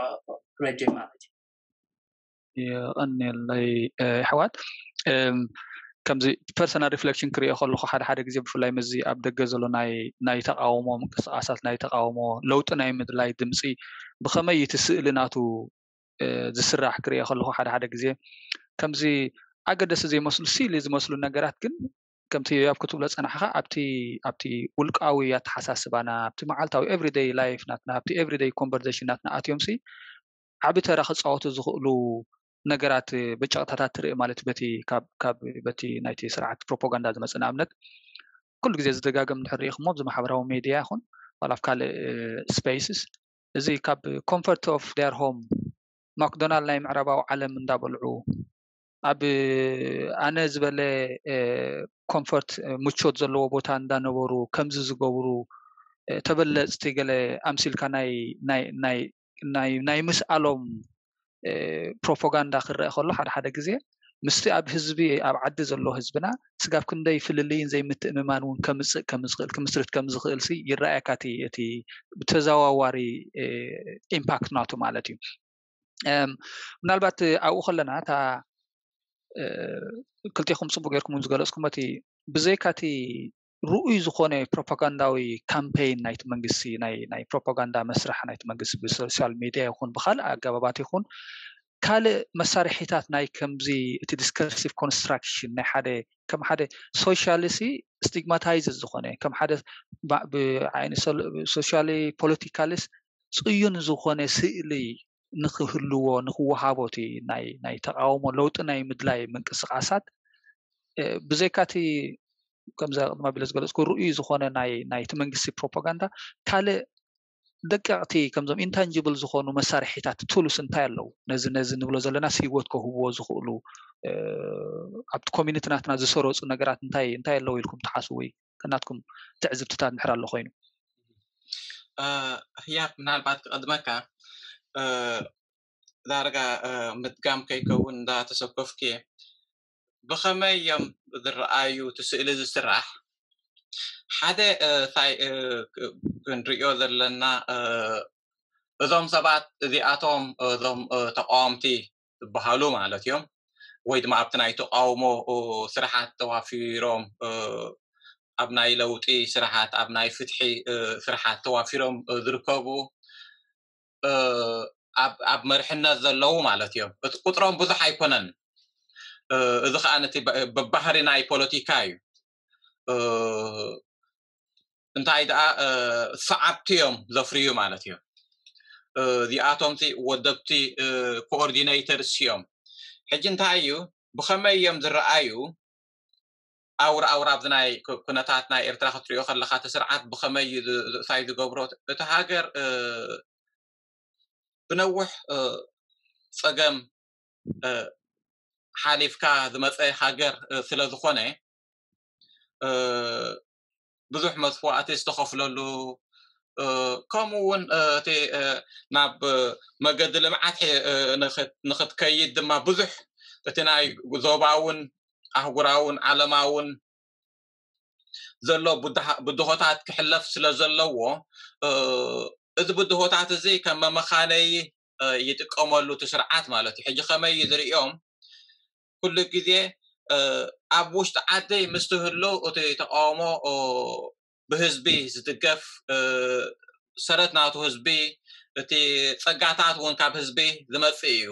ረጅም ማለት እዩ። የቐንየለይ ኣሕዋት። ከምዚ ፐርሰናል ሪፍሌክሽን ክሪኦ ከለኹ ሓደ ሓደ ግዜ ብፍላይ ምስዚ ኣብ ደገ ዘሎ ናይ ናይ ተቃውሞ ምንቅስቃሳት ናይ ተቃውሞ ለውጢ ናይ ምድላይ ድምፂ ብኸመይ እቲ ስእሊ ናቱ ዝስራሕ ክሪኦ ከለኹ ሓደ ሓደ ግዜ ከምዚ ኣገደሲ ዘይመስሉ ሲሊ ዝመስሉ ነገራት ግን ከምቲ ያብ ክትብሎ ፀናሕካ ኣብቲ ኣብቲ ውልቃዊ ኣተሓሳስባና ኣብቲ መዓልታዊ ኤቭሪደይ ላይፍ ናትና ኣብቲ ኤቭሪደይ ኮንቨርሴሽን ናትና ኣትዮም ሲ ዓቢ ተራ ክፃወቱ ዝኽእሉ ነገራት ብጨቕታታት ትርኢ ማለት በቲ ካብ በቲ ናይቲ ስርዓት ፕሮፓጋንዳ ዝመፅእ ንኣብነት ኩሉ ግዜ ዝደጋገም እንድሕር ርኢኹሞ ኣብዚ ማሕበራዊ ሜድያ ይኹን ዋላ ኣብ ካልእ ስፔስስ እዚ ካብ ኮንፈርት ኦፍ ዴር ሆም ማክዶናል ናይ ምዕራባዊ ዓለም እንዳበልዑ ኣብ ኣነ ዝበለ ኮንፈርት ምቾት ዘለዎ ቦታ እንዳነበሩ ከምዚ ዝገብሩ ተበለፅቲ ገለ ኣምሲልካ ናይ ናይ ናይ ናይ ምስኣሎም ፕሮፓጋንዳ ክረአ ከሎ ሓደ ሓደ ግዜ ምስቲ ኣብ ህዝቢ ኣብ ዓዲ ዘሎ ህዝብና ስጋብ ክንደይ ፍልልይን ዘይምትእምማን እውን ከምፅእ ከምዝኽእል ክምስርት ከምዝኽእል ሲ ይረኣየካ እቲ እቲ ብተዘዋዋሪ ኢምፓክት ናቱ ማለት እዩ። ምናልባት ኣብኡ ከለና እታ ክልቲኹም ፅቡቅ ጌርኩም ዝገለፅኩም እቲ ብዘይካ እቲ ርኡይ ዝኾነ ፕሮፓጋንዳዊ ካምፔይን ናይቲ መንግስቲ ናይ ናይ ፕሮፓጋንዳ መስርሕ ናይቲ መንግስቲ ብሶሻል ሚድያ ይኹን ብካልእ ኣገባባት ይኹን ካልእ መሳርሒታት ናይ ከምዚ እቲ ዲስከርሲቭ ኮንስትራክሽን ናይ ሓደ ከም ሓደ ሶሻሊ ሲ ስቲግማታይዝ ዝኾነ ከም ሓደ ብዓይኒ ሶሻሊ ፖለቲካሊስ ፅዩን ዝኾነ ስእሊ ንክህልዎ ንክወሃቦ እቲ ናይ ናይ ተቃውሞ ለውጢ ናይ ምድላይ ምንቅስቃሳት ብዘይካቲ ከምዛ ቅድማ ቢለ ዝገለፅኩ ርኡይ ዝኾነ ናይ ናይቲ መንግስቲ ፕሮፓጋንዳ ካልእ ደቀቕቲ ከምዞም ኢንታንጂብል ዝኾኑ መሳርሒታት ቱልስ እንታይ ኣለዉ? ነዚ ነዚ ንብሎ ዘለና ህይወት ከህብዎ ዝኽእሉ ኣብቲ ኮሚኒቲ ናትና ዝሰረፁ ነገራት እንታይ እንታይ ኣለዉ ኢልኩም ትሓስቡ ወይ ከናትኩም ትዕዝብትታት እንድሕር ኣሎ ኮይኑ? ህያብ ምናልባት ክቐድመካ ዳርጋ ምድጋም ከይከውን እንዳተሰከፍኩ ብኸመይ እዮም ዝረኣዩ እቲ ስእሊ ዝስራሕ ሓደ እንታይ ክንሪኦ ዘለና እዞም ሰባት እዚኣቶም እዞም ተቃወምቲ ዝበሃሉ ማለት እዮም ወይ ድማ ኣብቲ ናይ ተቃውሞ ስራሓት ተዋፊሮም ኣብ ናይ ለውጢ ስራሓት ኣብ ናይ ፍትሒ ስራሓት ተዋፊሮም ዝርከቡ ኣብ መርሕነት ዘለዉ ማለት እዮም። እቲ ቁፅሮም ብዙሕ ኣይኮነን። እዚ ከዓ ነቲ ብባህሪ ናይ ፖለቲካ እዩ። እንታይ ደኣ ሰዓብቲ እዮም ዘፍርዩ ማለት እዩ። እዚኣቶም ወደብቲ ኮኦርዲኔተርስ እዮም። ሕጂ እንታይ እዩ ብኸመይ እዮም ዝረኣዩ? ኣውር ኣውር ኣብዚ ናይ ኩነታት ናይ ኤርትራ ክትሪኦ ከለካ እቲ ስርዓት ብኸመይ እዩ እንታይ ዝገብሮ እቲ ሃገር ብነውሕ ፀገም ሓሊፍካ ዝመፀ ሃገር ስለ ዝኾነ ብዙሕ መስዋእቲ ዝተኸፍለሉ ከምኡ እውን እቲ ናብ መገዲ ልምዓት ንኽትከይድ ድማ ብዙሕ እቲ ናይ ዞባውን ኣህጉራውን ዓለማውን ዘሎ ብድሆታት ክሕለፍ ስለ ዘለዎ እዚ ብድሆታት እዚ ከም መመኻነይ ይጥቀመሉ እቲ ስርዓት ማለት እዩ። ሕጂ ከመይ እዩ ዝርእዮም? ኩሉ ግዜ ኣብ ውሽጢ ዓደይ ምስ ትህሉ እቲ ተቃውሞ ብህዝቢ ዝድገፍ ሰረት ናቱ ህዝቢ እቲ ጸጋታት እውን ካብ ህዝቢ ዝመጽእ እዩ።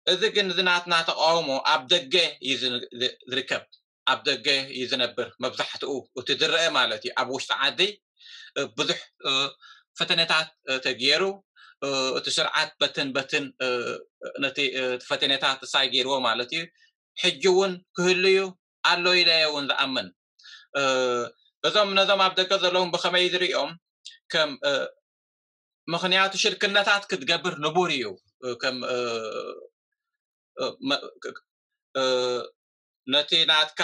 እዚ ግን እዚ ናትና ተቃውሞ ኣብ ደገ እዩ ዝርከብ። ኣብ ደገ እዩ ዝነብር መብዛሕትኡ እቲ ዝረአ ማለት እዩ። ኣብ ውሽጢ ዓዲ ብዙሕ ፈተነታት ተገይሩ እቲ ስርዓት በትን በትን ነቲ ፈተነታት እሳይ ገይርዎ ማለት እዩ። ሕጂ እውን ክህሉ እዩ ኣሎ ኢለ እውን ዝኣምን። እዞም ነዞም ኣብ ደገ ዘለውን ብኸመይ ዝርእዮም ከም ምክንያቱ ሽርክነታት ክትገብር ንቡር እዩ። ከም ነቲ ናትካ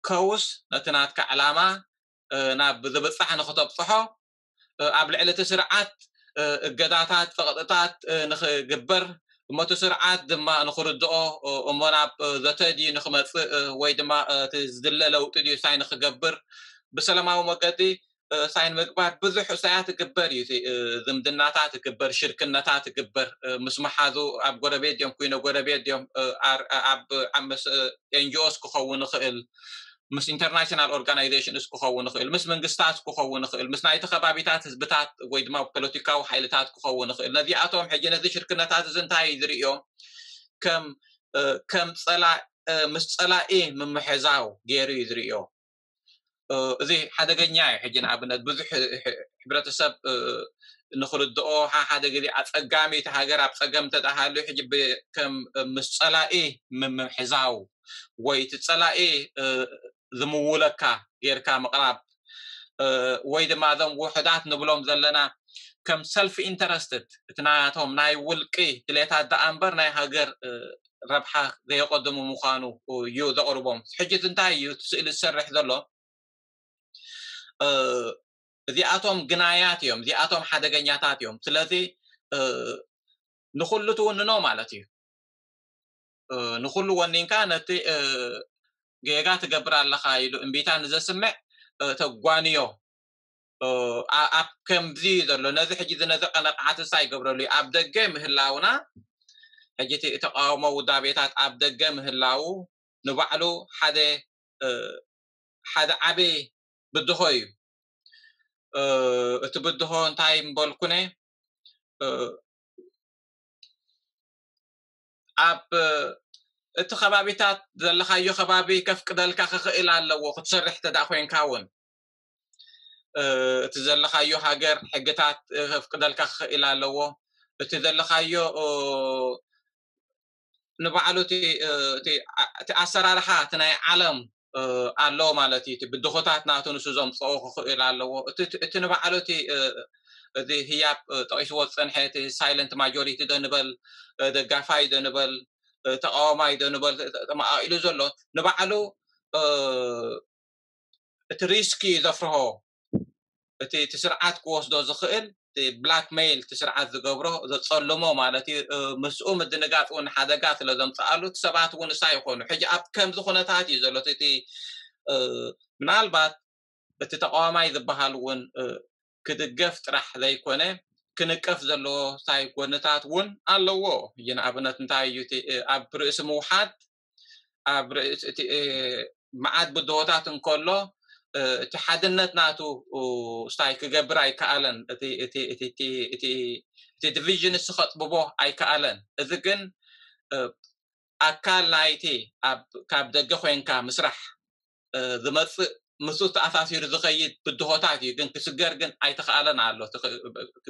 ከውስ ነቲ ናትካ ዕላማ ናብ ዝብፃሕ ንክተብፅሖ ኣብ ልዕሊ እቲ ስርዓት እገዳታት ፀቕጥታት ንክግበር እሞ እቲ ስርዓት ድማ ንክርድኦ እሞ ናብ ዘተ ድዩ ንክመፅእ ወይ ድማ እቲ ዝድለ ለውጢ ድዩ ሳይ ንክገብር ብሰላማዊ መገዲ ሳይን ምግባር ብዙሕ እሳያት እግበር እዩ። ዝምድናታት እግበር ሽርክነታት እግበር ምስ መሓዙ ኣብ ጎረቤት ድዮም ኩይነ ጎረቤት ድዮም ኣብ ኤንጂኦስ ክኸውን ይኽእል ምስ ኢንተርናሽናል ኦርጋናይዜሽንስ ክኸውን ይኽእል ምስ መንግስታት ክኸውን ይኽእል ምስ ናይቲ ከባቢታት ህዝብታት ወይ ድማ ፖለቲካዊ ሓይልታት ክኸውን ይኽእል። ነዚኣቶም ሕጂ ነዚ ሽርክነታት እዚ እንታይ ዝርእዮ ከም ከም ምስ ፀላኢ ምምሕዛው ገይሩ እዩ ዝርእዮ። እዚ ሓደገኛ እዩ። ሕጂ ንኣብነት ብዙሕ ሕብረተሰብ ንክርድኦ ሓደ ግዜ ኣፀጋሚ እቲ ሃገር ኣብ ፀገም እንተደሃልዩ ሕጂ ከም ምስ ፀላኢ ምምሕዛው ወይ እቲ ፀላኢ ዝምውለካ ጌርካ ምቕራብ ወይ ድማ እዞም ውሕዳት ንብሎም ዘለና ከም ሰልፍ ኢንተረስትድ እቲ ናቶም ናይ ውልቂ ድሌታት ደኣ እምበር ናይ ሃገር ረብሓ ዘየቐድሙ ምዃኑ እዩ ዘቕርቦም። ሕጂ እንታይ እዩ እቲ ስእሊ ዝሰርሕ ዘሎ? እዚኣቶም ግናያት እዮም፣ እዚኣቶም ሓደገኛታት እዮም። ስለዚ ንኹሉ ትውንኖ ማለት እዩ። ንኹሉ ወኒንካ ነቲ ጌጋ ትገብር ኣለኻ ኢሉ እምቢታ ንዘስምዕ ተጓንዮ ኣብ ከምዚ ዘሎ ነዚ ሕጂ ዝነዘቀ ነቕዓትሳ ይገብረሉ እዩ። ኣብ ደገ ምህላውና ሕጂ እቲ ተቃውሞ ውዳቤታት ኣብ ደገ ምህላው ንባዕሉ ሓደ ሓደ ዓቢ ብድሆ እዩ። እቲ ብድሆ እንታይ ምበልኩነ ኣብ እቲ ከባቢታት ዘለኻዮ ከባቢ ከፍቅደልካ ክኽእል ኣለዎ ክትሰርሕ ተዳ ኮንካ እውን እቲ ዘለኻዮ ሃገር ሕግታት ከፍቅደልካ ክኽእል ኣለዎ። እቲ ዘለኻዮ ንባዕሉ እቲ ኣሰራርሓ እቲ ናይ ዓለም ኣሎ ማለት እዩ። እቲ ብድኾታት ናቱ ንሱ ዘምፅኦ ክኽእል ኣለዎ። እቲ ንባዕሉ እቲ እዚ ህያብ ጠቂስዎ ዝፀንሐ እቲ ሳይለንት ማጆሪቲ ዶ ንበል፣ ደጋፋይ ዶ ንበል፣ ተቃዋማይ ዶ ንበል፣ ተማቃቂሉ ዘሎ ንባዕሉ እቲ ሪስክ እዩ ዘፍርሆ። እቲ እቲ ስርዓት ክወስዶ ዝኽእል ብላክሜይል እቲ ስርዓት ዝገብሮ ዘፀልሞ ማለት እዩ። ምስኡ ምድንጋፅ እውን ሓደጋ ስለ ዘምፀኣሉ እቲ ሰባት እውን እሳ ይኾኑ። ሕጂ ኣብ ከምዚ ኩነታት እዩ ዘሎ እቲ ምናልባት እቲ ተቃዋማይ ዝበሃል እውን ክድገፍ ጥራሕ ዘይኮነ ክንቀፍ ዘለዎ ሳይ ጎንታት እውን ኣለዎ። ንኣብነት እንታይ እዩ ኣብ ርእሲ ምውሓድ ኣብ ርእሲ እቲ መዓት ብድሆታት እንከሎ እቲ ሓድነት ናቱ ስታይ ክገብር ኣይከኣለን። እቲ ዲቪዥን እሱ ከጥብቦ ኣይከኣለን። እዚ ግን ኣካል ናይቲ ካብ ደገ ኮይንካ ምስራሕ ዝመፅእ ምስ ተኣሳሲሩ ዝኸይድ ብድሆታት እዩ። ግን ክስገር ግን ኣይተኸኣለን ኣሎ።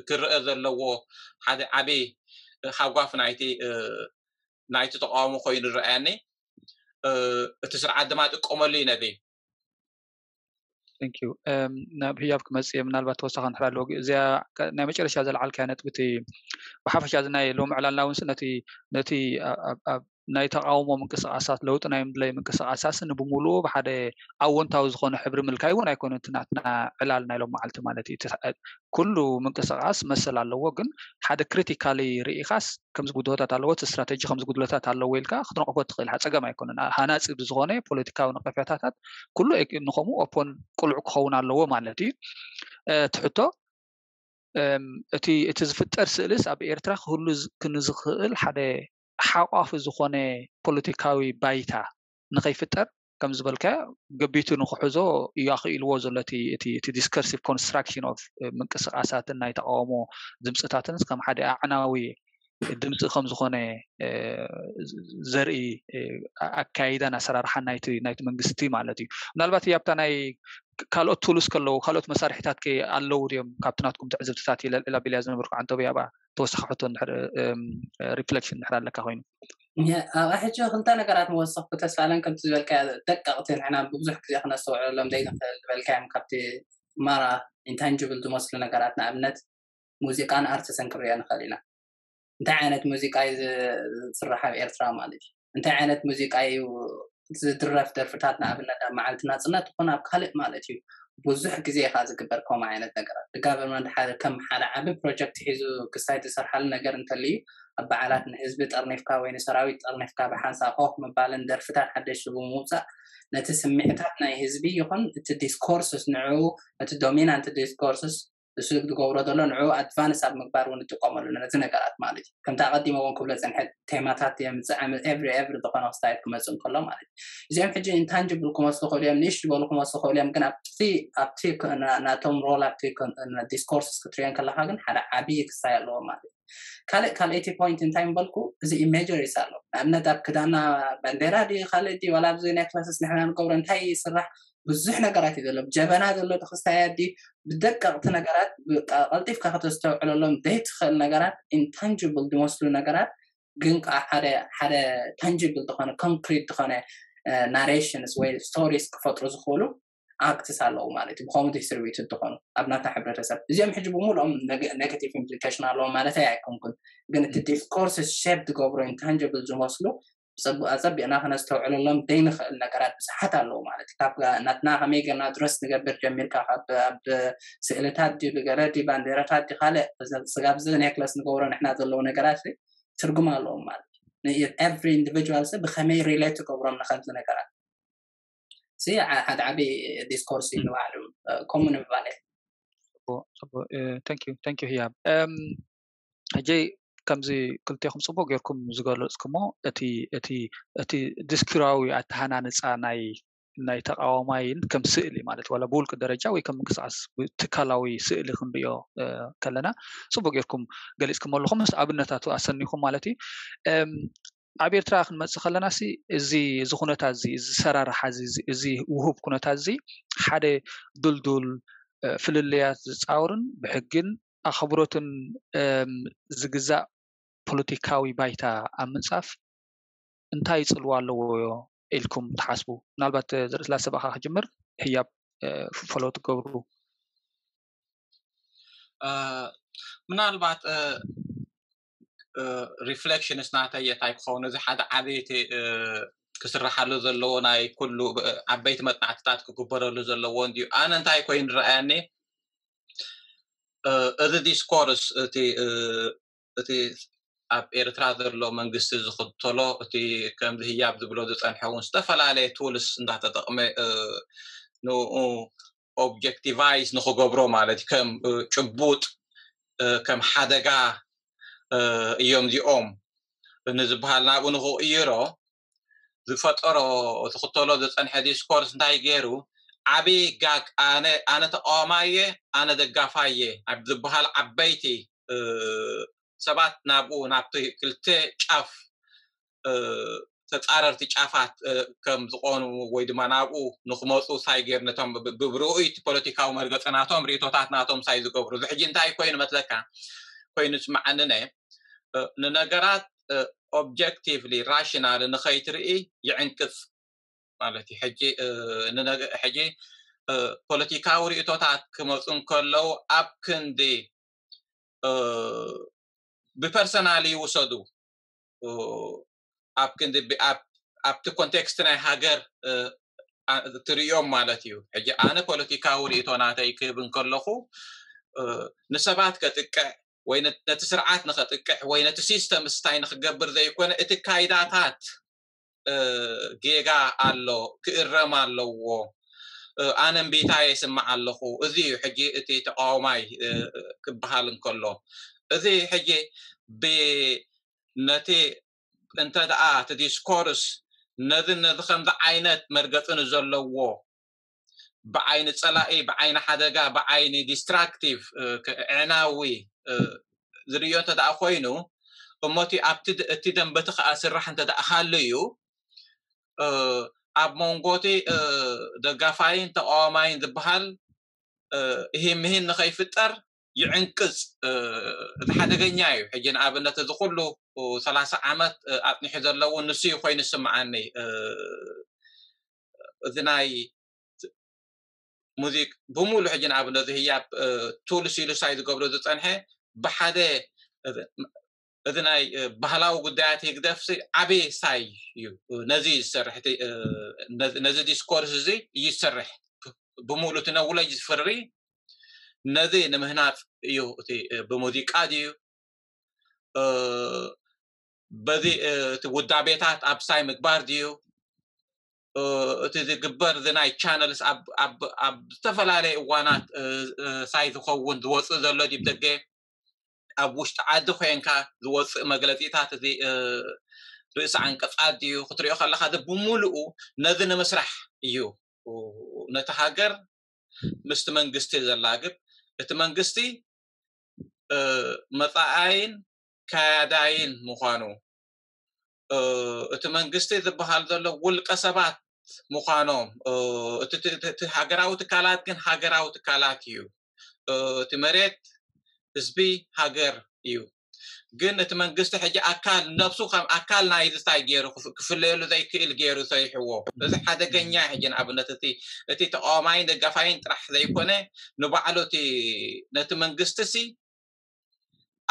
ክረአ ዘለዎ ሓደ ዓብዪ ሃጓፍ ናይቲ ናይቲ ተቃውሞ ኮይኑ ዝረኣየኒ። እቲ ስርዓት ድማ ጥቀመሉ እዩ ነዚ። ናብ ህያብ ክመፅእ እየ። ምናልባት ተወሳኺ እንድሕር ኣለዎ እዚኣ ናይ መጨረሻ ዘልዓልካያ ነጥቢ እቲ ብሓፈሻ እዚ ናይ ሎሚ ዕላልና እውን ነቲ ነቲ ናይ ተቃውሞ ምንቅስቃሳት ለውጢ ናይ ምድላይ ምንቅስቃሳት ንብሙሉኡ ብሓደ ኣወንታዊ ዝኾነ ሕብሪ ምልካይ እውን ኣይኮነ እቲ ናትና ዕላል ናይ ሎም መዓልቲ ማለት እዩ። ኩሉ ምንቅስቃስ መሰል ኣለዎ፣ ግን ሓደ ክሪቲካሊ ርኢኻስ ከምዚ ጉድለታት ኣለዎ፣ እቲ ስትራተጂ ከምዚ ጉድለታት ኣለዎ ኢልካ ክትነቕፎ ትኽእል ጸገም ኣይኮነን። ሃናጺ ብዝኾነ ፖለቲካዊ ነቐፌታታት ኩሉ ንኸምኡ ኦፖን ቅሉዕ ክኸውን ኣለዎ ማለት እዩ። እቲ ሕቶ እቲ እቲ ዝፍጠር ስእልስ ኣብ ኤርትራ ክህሉ ክንዝኽእል ሓደ ሓቋፊ ዝኾነ ፖለቲካዊ ባይታ ንኸይፍጠር ከም ዝበልካዮ ገቢቱ ንክሕዞ እዩ ኣኽኢልዎ ዘሎ እቲ discursive construction of ምንቅስቃሳትን ናይ ተቃውሞ ድምፅታትን ከም ሓደ ኣዕናዊ ድምፂ ከም ዝኾነ ዘርኢ ኣካይዳን ኣሰራርሓን ናይቲ መንግስቲ ማለት እዩ። ምናልባት ኣብታ ናይ ካልኦት ቱሉስ ከለዉ ካልኦት መሳርሒታት ከ ኣለዉ ድዮም ካብቲ ናትኩም ትዕዝብትታት ኢለ ልዕል ኣቢልያ ዝነበርኩ ዓንተቡ ያባ ተወሳኺ ሕቶ ሪፍሌክሽን ድሕር ኣለካ ኮይኑ ኣብ ሕጂ ክልተ ነገራት መወሰኽኩ ተስፋለን ከምቲ ዝበልካ ደቀቕቲ ንሕና ብዙሕ ግዜ ክነስተውዕሎም ዘይንኽእል ዝበልካዮም ካብቲ ማራ ኢንታንጅብል ዝመስሉ ነገራት ንኣብነት ሙዚቃን ኣርትስን ክንሪኦ ንኽእል ኢና። እንታይ ዓይነት ሙዚቃ እዩ ዝስራሕ ኣብ ኤርትራ ማለት እዩ? እንታይ ዓይነት ሙዚቃ እዩ ዝድረፍ ደርፍታት ንኣብነት ኣብ መዓልቲ ናፅነት ይኹን ኣብ ካልእ ማለት እዩ ብዙሕ ግዜ ኢኻ ዝግበር ከምኡ ዓይነት ነገራት። The government ሓደ ከም ሓደ ዓቢ ፕሮጀክት ሒዙ ክሳይ ዝሰርሓሉ ነገር እንተልዩ ኣብ በዓላት ንህዝቢ ጠርኒፍካ ወይ ንሰራዊት ጠርኒፍካ ብሓንሳብ ኮፍ ምባልን ደርፍታት ሓደሽቲ ብምውፃእ ነቲ ስምዒታት ናይ ህዝቢ ይኹን እቲ ዲስኮርስስ ንዕኡ እቲ ዶሚናንት ዲስኮርስስ እሱ ዝገብሮ ዘሎ ንዕኡ ኣድቫንስ ኣብ ምግባር እውን ንጥቀመሉ ነዚ ነገራት ማለት እዩ። ከምቲ ኣቐዲመ እውን ክብሎ ዝፀንሐ ቴማታት የምፅእ ዓመት ኤቭሪ ኤቭሪ ዝኾነ ክስታይ ክመፅእ እንከሎ ማለት እዩ። እዚኦም ሕጂ ኢንታንጅብል ክመስሉ ክእሉ እዮም፣ ንእሽ ዝበሉ ክመስሉ ክእሉ እዮም፣ ግን ኣብቲ ኣብቲ ናቶም ሮል ኣብቲ ዲስኮርስ ክትሪኦ ከለካ ግን ሓደ ዓብዪ ክስታይ ኣለዎ ማለት እዩ። ካልእ ካልኣይቲ ፖይንት እንታይ ምበልኩ እዚ ኢሜጀሪስ ኣሎ። ንኣብነት ኣብ ክዳና ባንዴራ ድዩ ካልእ ድዩ ዋላ ኣብዚ ናይ ክላስስ ንሕና ንገብሮ እንታይ ይስራሕ ብዙሕ ነገራት እዩ ዘሎ። ጀበና ዘሎ ተክስታይ ኣዲ ብደቀቕቲ ነገራት ቀልጢፍካ ከተስተውዕለሎም ዘይትኽእል ነገራት ኢንታንጅብል ዝመስሉ ነገራት ግን ከዓ ሓደ ሓደ ታንጅብል ዝኾነ ኮንክሪት ዝኾነ ናሬሽንስ ወይ ስቶሪስ ክፈጥሩ ዝኽእሉ ኣክትስ ኣለዉ ማለት እዩ። ብከምኡ ዲስትሪቢዩትድ ዝኾኑ ኣብ ናታ ሕብረተሰብ እዚኦም ሕጂ ብምሉኦም ኔጋቲቭ ኢምፕሊኬሽን ኣለዎም ማለት ኣይኮንኩን፣ ግን እቲ ዲስኮርስ ሼፕ ዝገብሩ ኢንታንጅብል ዝመስሉ ኣፀቢቕና ከነስተውዕለሎም ዘይንኽእል ነገራት ብዙሓት ኣለዉ ማለት እዩ። ካብ ናትና ከመይ ጌርና ድረስ ንገብር ጀሚርካ ካብ ኣብ ስእልታት ድዩ ብገለ ድዩ ባንዴራታት ድዩ ካልእ ስጋብ እዚ ኔክለስ ንገብሮ ንሕና ዘለዉ ነገራት ትርጉም ኣለዎም ማለት እዩ። ኤቭሪ ኢንዲቪጁዋል ሰብ ብከመይ ሪሌት ትገብሮም ንከምዚ ነገራት እዚ ሓደ ዓብዪ ዲስኮርስ እዩ ንባዕሉ ከምኡ ንምባል ጽቡቅ ጽቡቅ። ታንክ ዩ ታንክ ዩ ህያብ። ሕጂ ከምዚ ክልቴኹም ጽቡቅ ጌርኩም ዝገለጽኩሞ እቲ እቲ እቲ ዲስኩራዊ ኣተሃናንጻ ናይ ናይ ተቃዋማይን ከም ስእሊ ማለት ዋላ ብውልቂ ደረጃ ወይ ከም ምንቅስቃስ ትካላዊ ስእሊ ክንሪኦ ከለና ጽቡቅ ጌርኩም ገሊጽኩም ኣለኹም ምስ ኣብነታቱ ኣሰኒኹም ማለት እዩ። ኣብ ኤርትራ ክንመጽእ ከለና ሲ እዚ እዚ ኩነታት እዚ እዚ ሰራርሓ እዚ እዚ ውሁብ ኩነታት እዚ ሓደ ድልዱል ፍልልያት ዝጻወርን ብሕግን ኣኽብሮትን ዝግዛእ ፖለቲካዊ ባይታ ኣብ ምንጻፍ እንታይ ጽልዋ ኣለዎ ኢልኩም ትሓስቡ? ምናልባት ዝርእስላ ሰብኣኻ ክጅምር ህያብ ፈለው ትገብሩ። ምናልባት reflections ናተይ እንታይ ክኸውን፣ እዚ ሓደ ዓበይቲ ክስራሓሉ ዘለዎ ናይ ኩሉ ዓበይቲ መጽናዕትታት ክግበረሉ ዘለዎ እንዲዩ። ኣነ እንታይ ኮይኑ ረኣያኒ፣ እዚ discourse እቲ እቲ ኣብ ኤርትራ ዘሎ መንግስቲ ዝኽተሎ እቲ ከምዚ ህያብ ዝብሎ ዝጸንሐ እውን ዝተፈላለየ tools እንዳተጠቕመ ንኡ objectivize ንኽገብሮ ማለት ከም ጭቡጥ ከም ሓደጋ እዮም እዚኦም ንዝበሃል ናብኡ ንኽቕይሮ ዝፈጠሮ ዝኽተሎ ዝጸንሐ discourse እንታይ ገይሩ፣ ዓብዪ ጋግ ኣነ ኣነ ተቃዋማየ ኣነ ደጋፋየ ኣብ ዝበሃል ዓበይቲ ሰባት ናብኡ ናብቲ ክልተ ጫፍ ተጻረርቲ ጫፋት ከም ዝኾኑ ወይ ድማ ናብኡ ንክመፁ ሳይ ገይሩ ነቶም ብብርኡይ እቲ ፖለቲካዊ መርገፂ ናቶም ርእቶታት ናቶም ሳይ ዝገብሩ እዚ ሕጂ እንታይ ኮይኑ መስለካ ኮይኑ ስማዓንነ ንነገራት objectively rational ንኸይትርኢ ይዕንቅፅ ማለት እዩ። ሕጂ ሕጂ ፖለቲካዊ ርእቶታት ክመፁ እንከለዉ ኣብ ክንዲ ብፐርሰናል ይውሰዱ ኣብ ክንዲ ኣብቲ ኮንቴክስት ናይ ሃገር ትርእዮም ማለት እዩ። ሕጂ ኣነ ፖለቲካዊ ርእቶ ናተይ ክህብ እንከለኹ ንሰባት ከጥቅዕ ወይ ነቲ ስርዓት ንኸጥቅዕ ወይ ነቲ ሲስተም ስታይ ንክገብር ዘይኮነ እቲ ካይዳታት ጌጋ ኣሎ ክእረም ኣለዎ። ኣነ እምቢታ የስምዕ ኣለኹ። እዚ እዩ ሕጂ እቲ ተቃዋማይ ክበሃል እንከሎ እዚ ሕጂ ነቲ እንተ ደኣ እቲ discourse ነዚ ነዚ ከምዚ ዓይነት መርገፂ ንዘለዎ ብዓይኒ ፀላኢ ብዓይኒ ሓደጋ ብዓይኒ destructive ዕዕናዊ ዝርእዮ እንተ ደኣ ኮይኑ እሞ እቲ ኣብቲ እቲ ደንበቲ ከዓ ስራሕ እንተ ደኣ ሃሉ እዩ ኣብ መንጎ እቲ ደጋፋይን ተቃዋማይን ዝበሃል እሂን ምሂን ንኸይፍጠር ይዕንቅፅ። እቲ ሓደገኛ እዩ። ሕጂ ንኣብነት እዚ ኩሉ ሰላሳ ዓመት ኣፅኒሑ ዘለዉ ንሱ እዩ ኮይኑ ዝስምዓኒ። እዚ ናይ ሙዚቅ ብሙሉ ሕጂ ንኣብነት እዚ ህያብ tools ኢሉ ሳይ ዝገብሮ ዝፀንሐ ብሓደ እዚ ናይ ባህላዊ ጉዳያት ህግደፍ ዓብዪ ሳይ እዩ። ነዚ ዝሰርሕ ነዚ discourse እዚ ይሰርሕ ብሙሉ እቲ ነውለጅ ዝፍሪ ነዚ ንምህናፅ እዩ። እቲ ብሙዚቃ ድዩ በዚ እቲ ውዳቤታት ኣብ ሳይ ምግባር ድዩ እቲ ዝግበር እዚ ናይ channels ኣብ ዝተፈላለየ እዋናት ሳይ ዝኸውን ዝወፅእ ዘሎ ዲብ ደገ ኣብ ውሽጢ ዓዲ ኮንካ ዝወፅእ መግለፂታት እዚ ርእሲ ዓንቀፃት ድዩ ክትሪኦ ከለካ እዚ ብምሉኡ ነዚ ንምስራሕ እዩ። ነቲ ሃገር ምስቲ መንግስቲ ዘላግብ እቲ መንግስቲ መፃኣይን ከያዳይን ምዃኑ እቲ መንግስቲ ዝበሃል ዘሎ ውልቀ ሰባት ምዃኖም እቲ ሃገራዊ ትካላት ግን ሃገራዊ ትካላት እዩ። እቲ መሬት ህዝቢ ሃገር እዩ። ግን እቲ መንግስቲ ሕጂ ኣካል ነብሱ ከም ኣካል ናይዚ እንታይ ገይሩ ክፍለየሉ ዘይክእል ገይሩ ሰሪሕዎ። እዚ ሓደገኛ ሕጂ ንኣብነት እቲ እቲ ተቃዋማይን ደጋፋይን ጥራሕ ዘይኮነ ንባዕሉ እቲ ነቲ መንግስቲ ሲ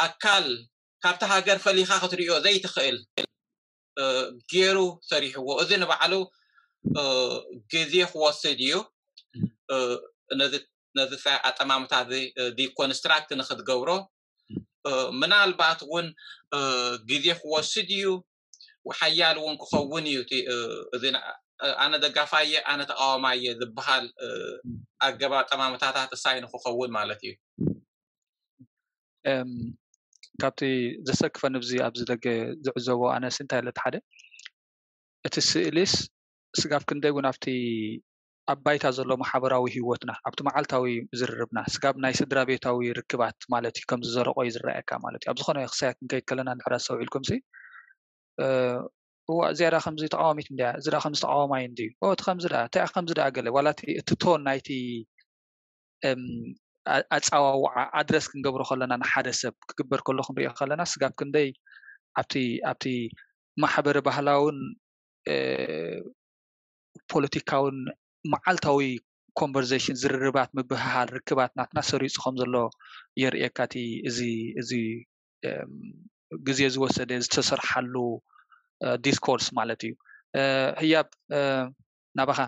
ኣካል ካብቲ ሃገር ፈሊኻ ክትሪኦ ዘይትኽእል ገይሩ ሰሪሕዎ። እዚ ንባዕሉ ግዜ ክወስድ እዩ። ነዚ ነዚ ኣጠማምታ እዚ deconstruct ንክትገብሮ ምናልባት እውን ግዜ ክወስድ እዩ። ሓያል እውን ክኸውን እዩ። እዚ ኣነ ደጋፋየ ኣነ ተቃዋማየ ዝበሃል ኣገባ ኣጠማምታታት እሳይ ንክኸውን ማለት እዩ። ካብቲ ዘሰክፈኒ ብዚ ኣብዚ ደገ ዝዕዘቦ ኣነስ እንታይ ለቲ ሓደ እቲ ስእሊስ ስጋብ ክንደይ እውን ኣብቲ ኣብ ባይታ ዘሎ ማሕበራዊ ህይወትና ኣብቲ መዓልታዊ ዝርርብና ስጋብ ናይ ስድራ ቤታዊ ርክባት ማለት እዩ ከምዚ ዘረቆ እዩ ዝረኣየካ ማለት እዩ። ኣብ ዝኾነ ክሳያት ክንከይድ ከለና እንድሕር ኣስተውዒልኩም ሲ እዋ እዚኣ ዳ ከምዚ ተቃዋሚት እንድያ እዚ ዳ ከምዚ ተቃዋማይ እንድዩ እቲ ከምዚ ዳ እንታይ ከምዚ ዳ ገለ ዋላ እቲ ቶን ናይቲ ኣፀዋውዓ ኣድረስ ክንገብሮ ከለና ንሓደ ሰብ ክግበር ከሎ ክንሪኦ ከለና ስጋብ ክንደይ ኣብቲ ኣብቲ ማሕበረ ባህላውን ፖለቲካውን መዓልታዊ ኮንቨርሴሽን፣ ዝርርባት፣ ምብህሃል፣ ርክባት ናትና ሰሪፁ ከም ዘሎ የርእየካ። እቲ እዚ እዚ ግዜ ዝወሰደ ዝተሰርሓሉ ዲስኮርስ ማለት እዩ። ህያብ ናባኻ።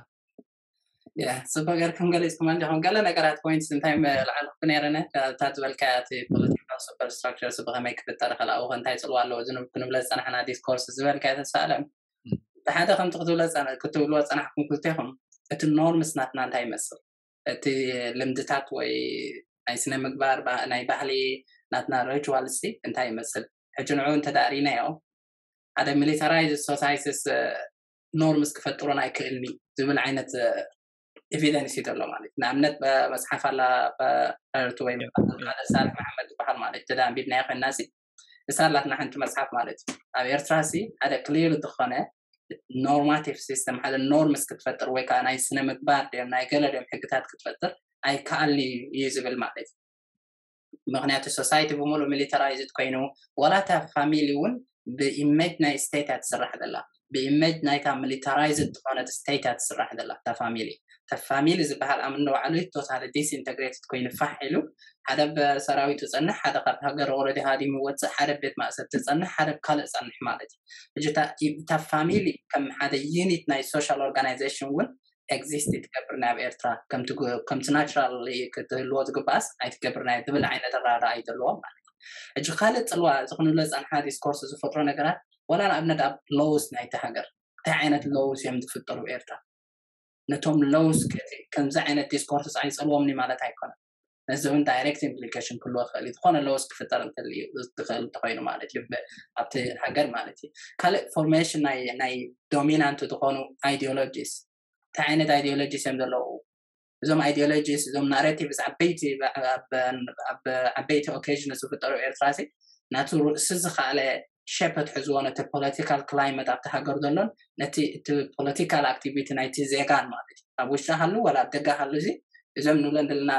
ጽቡቅ ገርኩም ገሊጽኩም እንዲኹም። ገለ ነገራት ፖይንትስ እንታይ መላዕልኩ ነይረነ፣ እታ ዝበልካያ እቲ ፖለቲካል ሱፐርስትራክቸርስ ብኸመይ ክፍጠር ይኽእል፣ ኣብኡ እንታይ ጽልዋ ኣለዎ፣ እዚ ክንብለ ዝጸናሕና ዲስኮርስ ዝበልካያ ተስፋ ኣለም ብሓደ ከምቲ ክትብልዎ ጸናሕኩም ክልቴኹም፣ እቲ ኖርምስ ናትና እንታይ ይመስል፣ እቲ ልምድታት ወይ ናይ ስነ ምግባር፣ ናይ ባህሊ ናትና ሪቹዋልስ እንታይ ይመስል፣ ሕጂ ንዑ እንተ ዳእሪናዮ ሓደ ሚሊታራይዝ ሶሳይቲስ ኖርምስ ክፈጥሮን ኣይክእልኒ ዝብል ዓይነት ኤቪደንስ እዩ ዘሎ ማለት እዩ። ንኣብነት መፅሓፍ ኣላ ርቱ ወይ ሳልሕ መሓመድ ዝበሃል ማለት እዩ። ተዳ ኣንቢብናዮ ኮይና ሲ እሳ ኣላትና ሓንቲ መፅሓፍ ማለት እዩ። ኣብ ኤርትራ ሲ ሓደ ክሊር ዝኾነ ኖርማቲቭ ሲስተም፣ ሓደ ኖርምስ ክትፈጥር ወይ ከዓ ናይ ስነ ምግባር ድም ናይ ገለ ድም ሕግታት ክትፈጥር ኣይከኣልኒ እዩ ዝብል ማለት እዩ። ምክንያቱ ሶሳይቲ ብምሉእ ሚሊታራይዝድ ኮይኑ፣ ዋላ እታ ፋሚሊ እውን ብኢሜጅ ናይ ስቴት እያ ትስራሕ ዘላ፣ ብኢሜጅ ናይታ ሚሊታራይዝድ ዝኾነት ስቴት እያ ትስራሕ ዘላ። እታ ፋሚሊ እታ ፋሚሊ ዝበሃል ኣምኒ ባዕሉ ቶታሊ ዲስኢንተግሬትድ ኮይኑ ፋሕ ኢሉ፣ ሓደ ብሰራዊቱ ጸንሕ፣ ሓደ ካብ ሃገር ኦልሬዲ ሃዲሙ ይወጽእ፣ ሓደ ቤት ማእሰርቲ ጸንሕ፣ ሓደ ካልእ ጸንሕ ማለት እዩ። እታ ፋሚሊ ከም ሓደ ዩኒት ናይ ሶሻል ኦርጋናይዜሽን እውን ኤግዚስት ትገብር ናይ ኣብ ኤርትራ ከምቲ ናቹራል ክትህልዎ ዝግባኣስ ኣይትገብር ናይ ትብል ዓይነት ኣረዳድኣ እዩ ዘለዎም ማለት እዩ። ሕጂ ካልእ ጽልዋ እዚ ክንብሎ ዝጸንሓ ዲስኮርስ ዝፈጥሮ ነገራት፣ ዋላ ንኣብነት ኣብ ሎውስ ናይቲ ሃገር እንታይ ዓይነት ሎውስ እዮም ዝፍጠሩ ኤርትራ፣ ነቶም ሎውስ ከምዚ ዓይነት ዲስኮርስ ኣይጸልዎምኒ ማለት ኣይኮነን። ነዚ እውን ዳይሬክት ኢምፕሊኬሽን ክህልዎ ይኽእል እዩ። ዝኾነ ሎውስ ክፍጠር እንተልዩ ዝኽእል እንተኮይኑ ማለት እዩ ኣብቲ ሃገር ማለት እዩ። ካልእ ፎርሜሽን ናይ ዶሚናንት ዝኾኑ ኣይዲዮሎጂስ፣ እንታይ ዓይነት ኣይዲዮሎጂስ እዮም ዘለዉ? እዞም ኣይዲዮሎጂስ፣ እዞም ናሬቲቭስ ዓበይቲ ዓበይቲ ኦኬዥን ዝፍጠሩ ኤርትራ ሲ ናቱ ርእሲ ዝኸኣለ ሸፐት ሕዝዎ ነቲ ፖለቲካል ክላይመት ኣብቲ ሃገር ዘሎን ነቲ እቲ ፖለቲካል ኣክቲቪቲ ናይቲ ዜጋን ማለት እዩ። ኣብ ውሽጢ ሃሉ ወላ ኣብ ደገ ሃሉ እዚ እዞም ንብለን ዘለና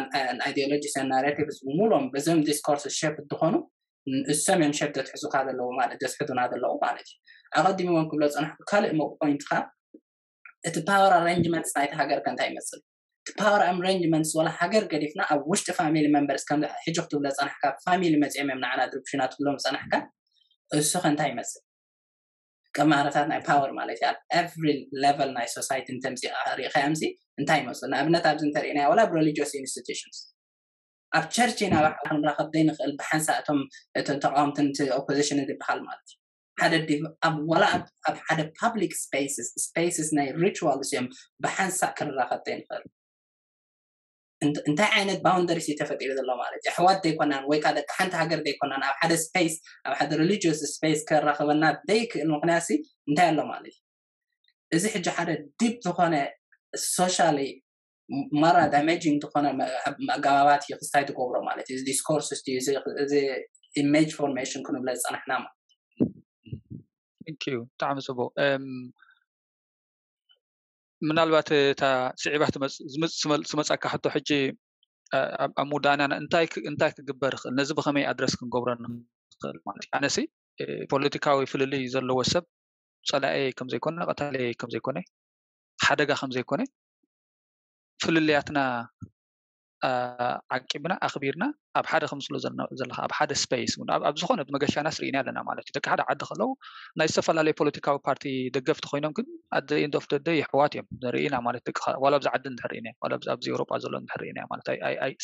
ኣይዲዮሎጂስ ናሬቲቭስ ብምሎም በዞም ዲስኮርስ ሸፕ እንትኾኑ እሶም እዮም ሸፕ ዘትሕዙካ ዘለዉ ማለት ዘስሕዱና ዘለዉ ማለት እዩ። ኣቐዲምዎም ክብሎ ፀናሕኩ ካልእ ሞ ፖይንትካ እቲ ፓወር ኣሬንጅመንትስ ናይቲ ሃገር ከ እንታይ ይመስል? እቲ ፓወር ኣሬንጅመንትስ ወላ ሃገር ገዲፍና ኣብ ውሽጢ ፋሚሊ መንበርስ ከም ሕጂ ክትብሎ ፀናሕካ ፋሚሊ መፂኦም እዮም ንዓና ድርብሽና ትብሎም ፀናሕካ እሱ ከ እንታይ ይመስል? ቀማረታት ናይ ፓወር ማለት እዩ። ኣብ ኤቭሪ ሌቨል ናይ ሶሳይቲ እንተምፂ ሪኢኻዮም ሲ እንታይ ይመስሉ? ንኣብነት ኣብዚ እንተሪእናዮ ወላ ኣብ ሪሊጂየስ ኢንስቲቱሽንስ ኣብ ቸርች ኢና ባዕልና ክንራኸብ ዘይንኽእል ብሓንሳእ እቶም እቶም ተቃወምትን ኦፖዚሽን ዝበሃል ማለት እዩ። ሓደ ኣብ ወላ ኣብ ሓደ ፓብሊክ ስፔስስ ስፔስስ ናይ ሪቹዋልስ እዮም ብሓንሳእ ክንራኸብ ዘይንኽእል። እንታይ ዓይነት ባውንደሪስ እዩ ተፈጢሩ ዘሎ ማለት እዩ? ኣሕዋት ዘይኮናን ወይ ከዓ ደቂ ሓንቲ ሃገር ዘይኮናን ኣብ ሓደ ስፔስ ኣብ ሓደ ሪሊጂየስ ስፔስ ከራኸበና ዘይክእል ምክንያት ሲ እንታይ ኣሎ ማለት እዩ? እዚ ሕጂ ሓደ ዲፕ ዝኾነ ሶሻሊ ማራ ዳሜጂንግ ዝኾነ ኣገባባት እዩ ክስታይ ትገብሮ ማለት እዩ። ዲስኮርስ እዚ ኢሜጅ ፎርሜሽን ክንብለ ዝፀናሕና ማለት እዩ። ብጣዕሚ ፅቡቅ። ምናልባት እታ ስዒባ ትመፀካ ሕቶ ሕጂ ኣብ ምውዳእና እንታይ እንታይ ክግበር ይኽእል፣ ነዚ ብኸመይ ኣድረስ ክንገብሮ ንኽእል ማለት እዩ። ኣነሲ ፖለቲካዊ ፍልልይ ዘለዎ ሰብ ፀላኤ ከምዘይኮነ ቀታሊ ከምዘይኮነ ሓደጋ ከምዘይኮነ ፍልልያትና ዓቂብና ኣኽቢርና ኣብ ሓደ ከምስሎ ዘለካ ኣብ ሓደ ስፔስ ኣብ ዝኾነ መገሻና ስርኢና ኣለና ማለት እዩ። ደቂ ሓደ ዓዲ ከለዉ ናይ ዝተፈላለዩ ፖለቲካዊ ፓርቲ ደገፍቲ ኮይኖም ግን ኣደ ኢንድ ኦፍ ደደ የሕዋት እዮም ንርኢና ማለት ደቂ ዋላ ኣብዚ ዓዲ እንድሕር ኢና ዋላ ኣብዚ ኤውሮጳ ዘሎ እንድሕር ኢና ማለት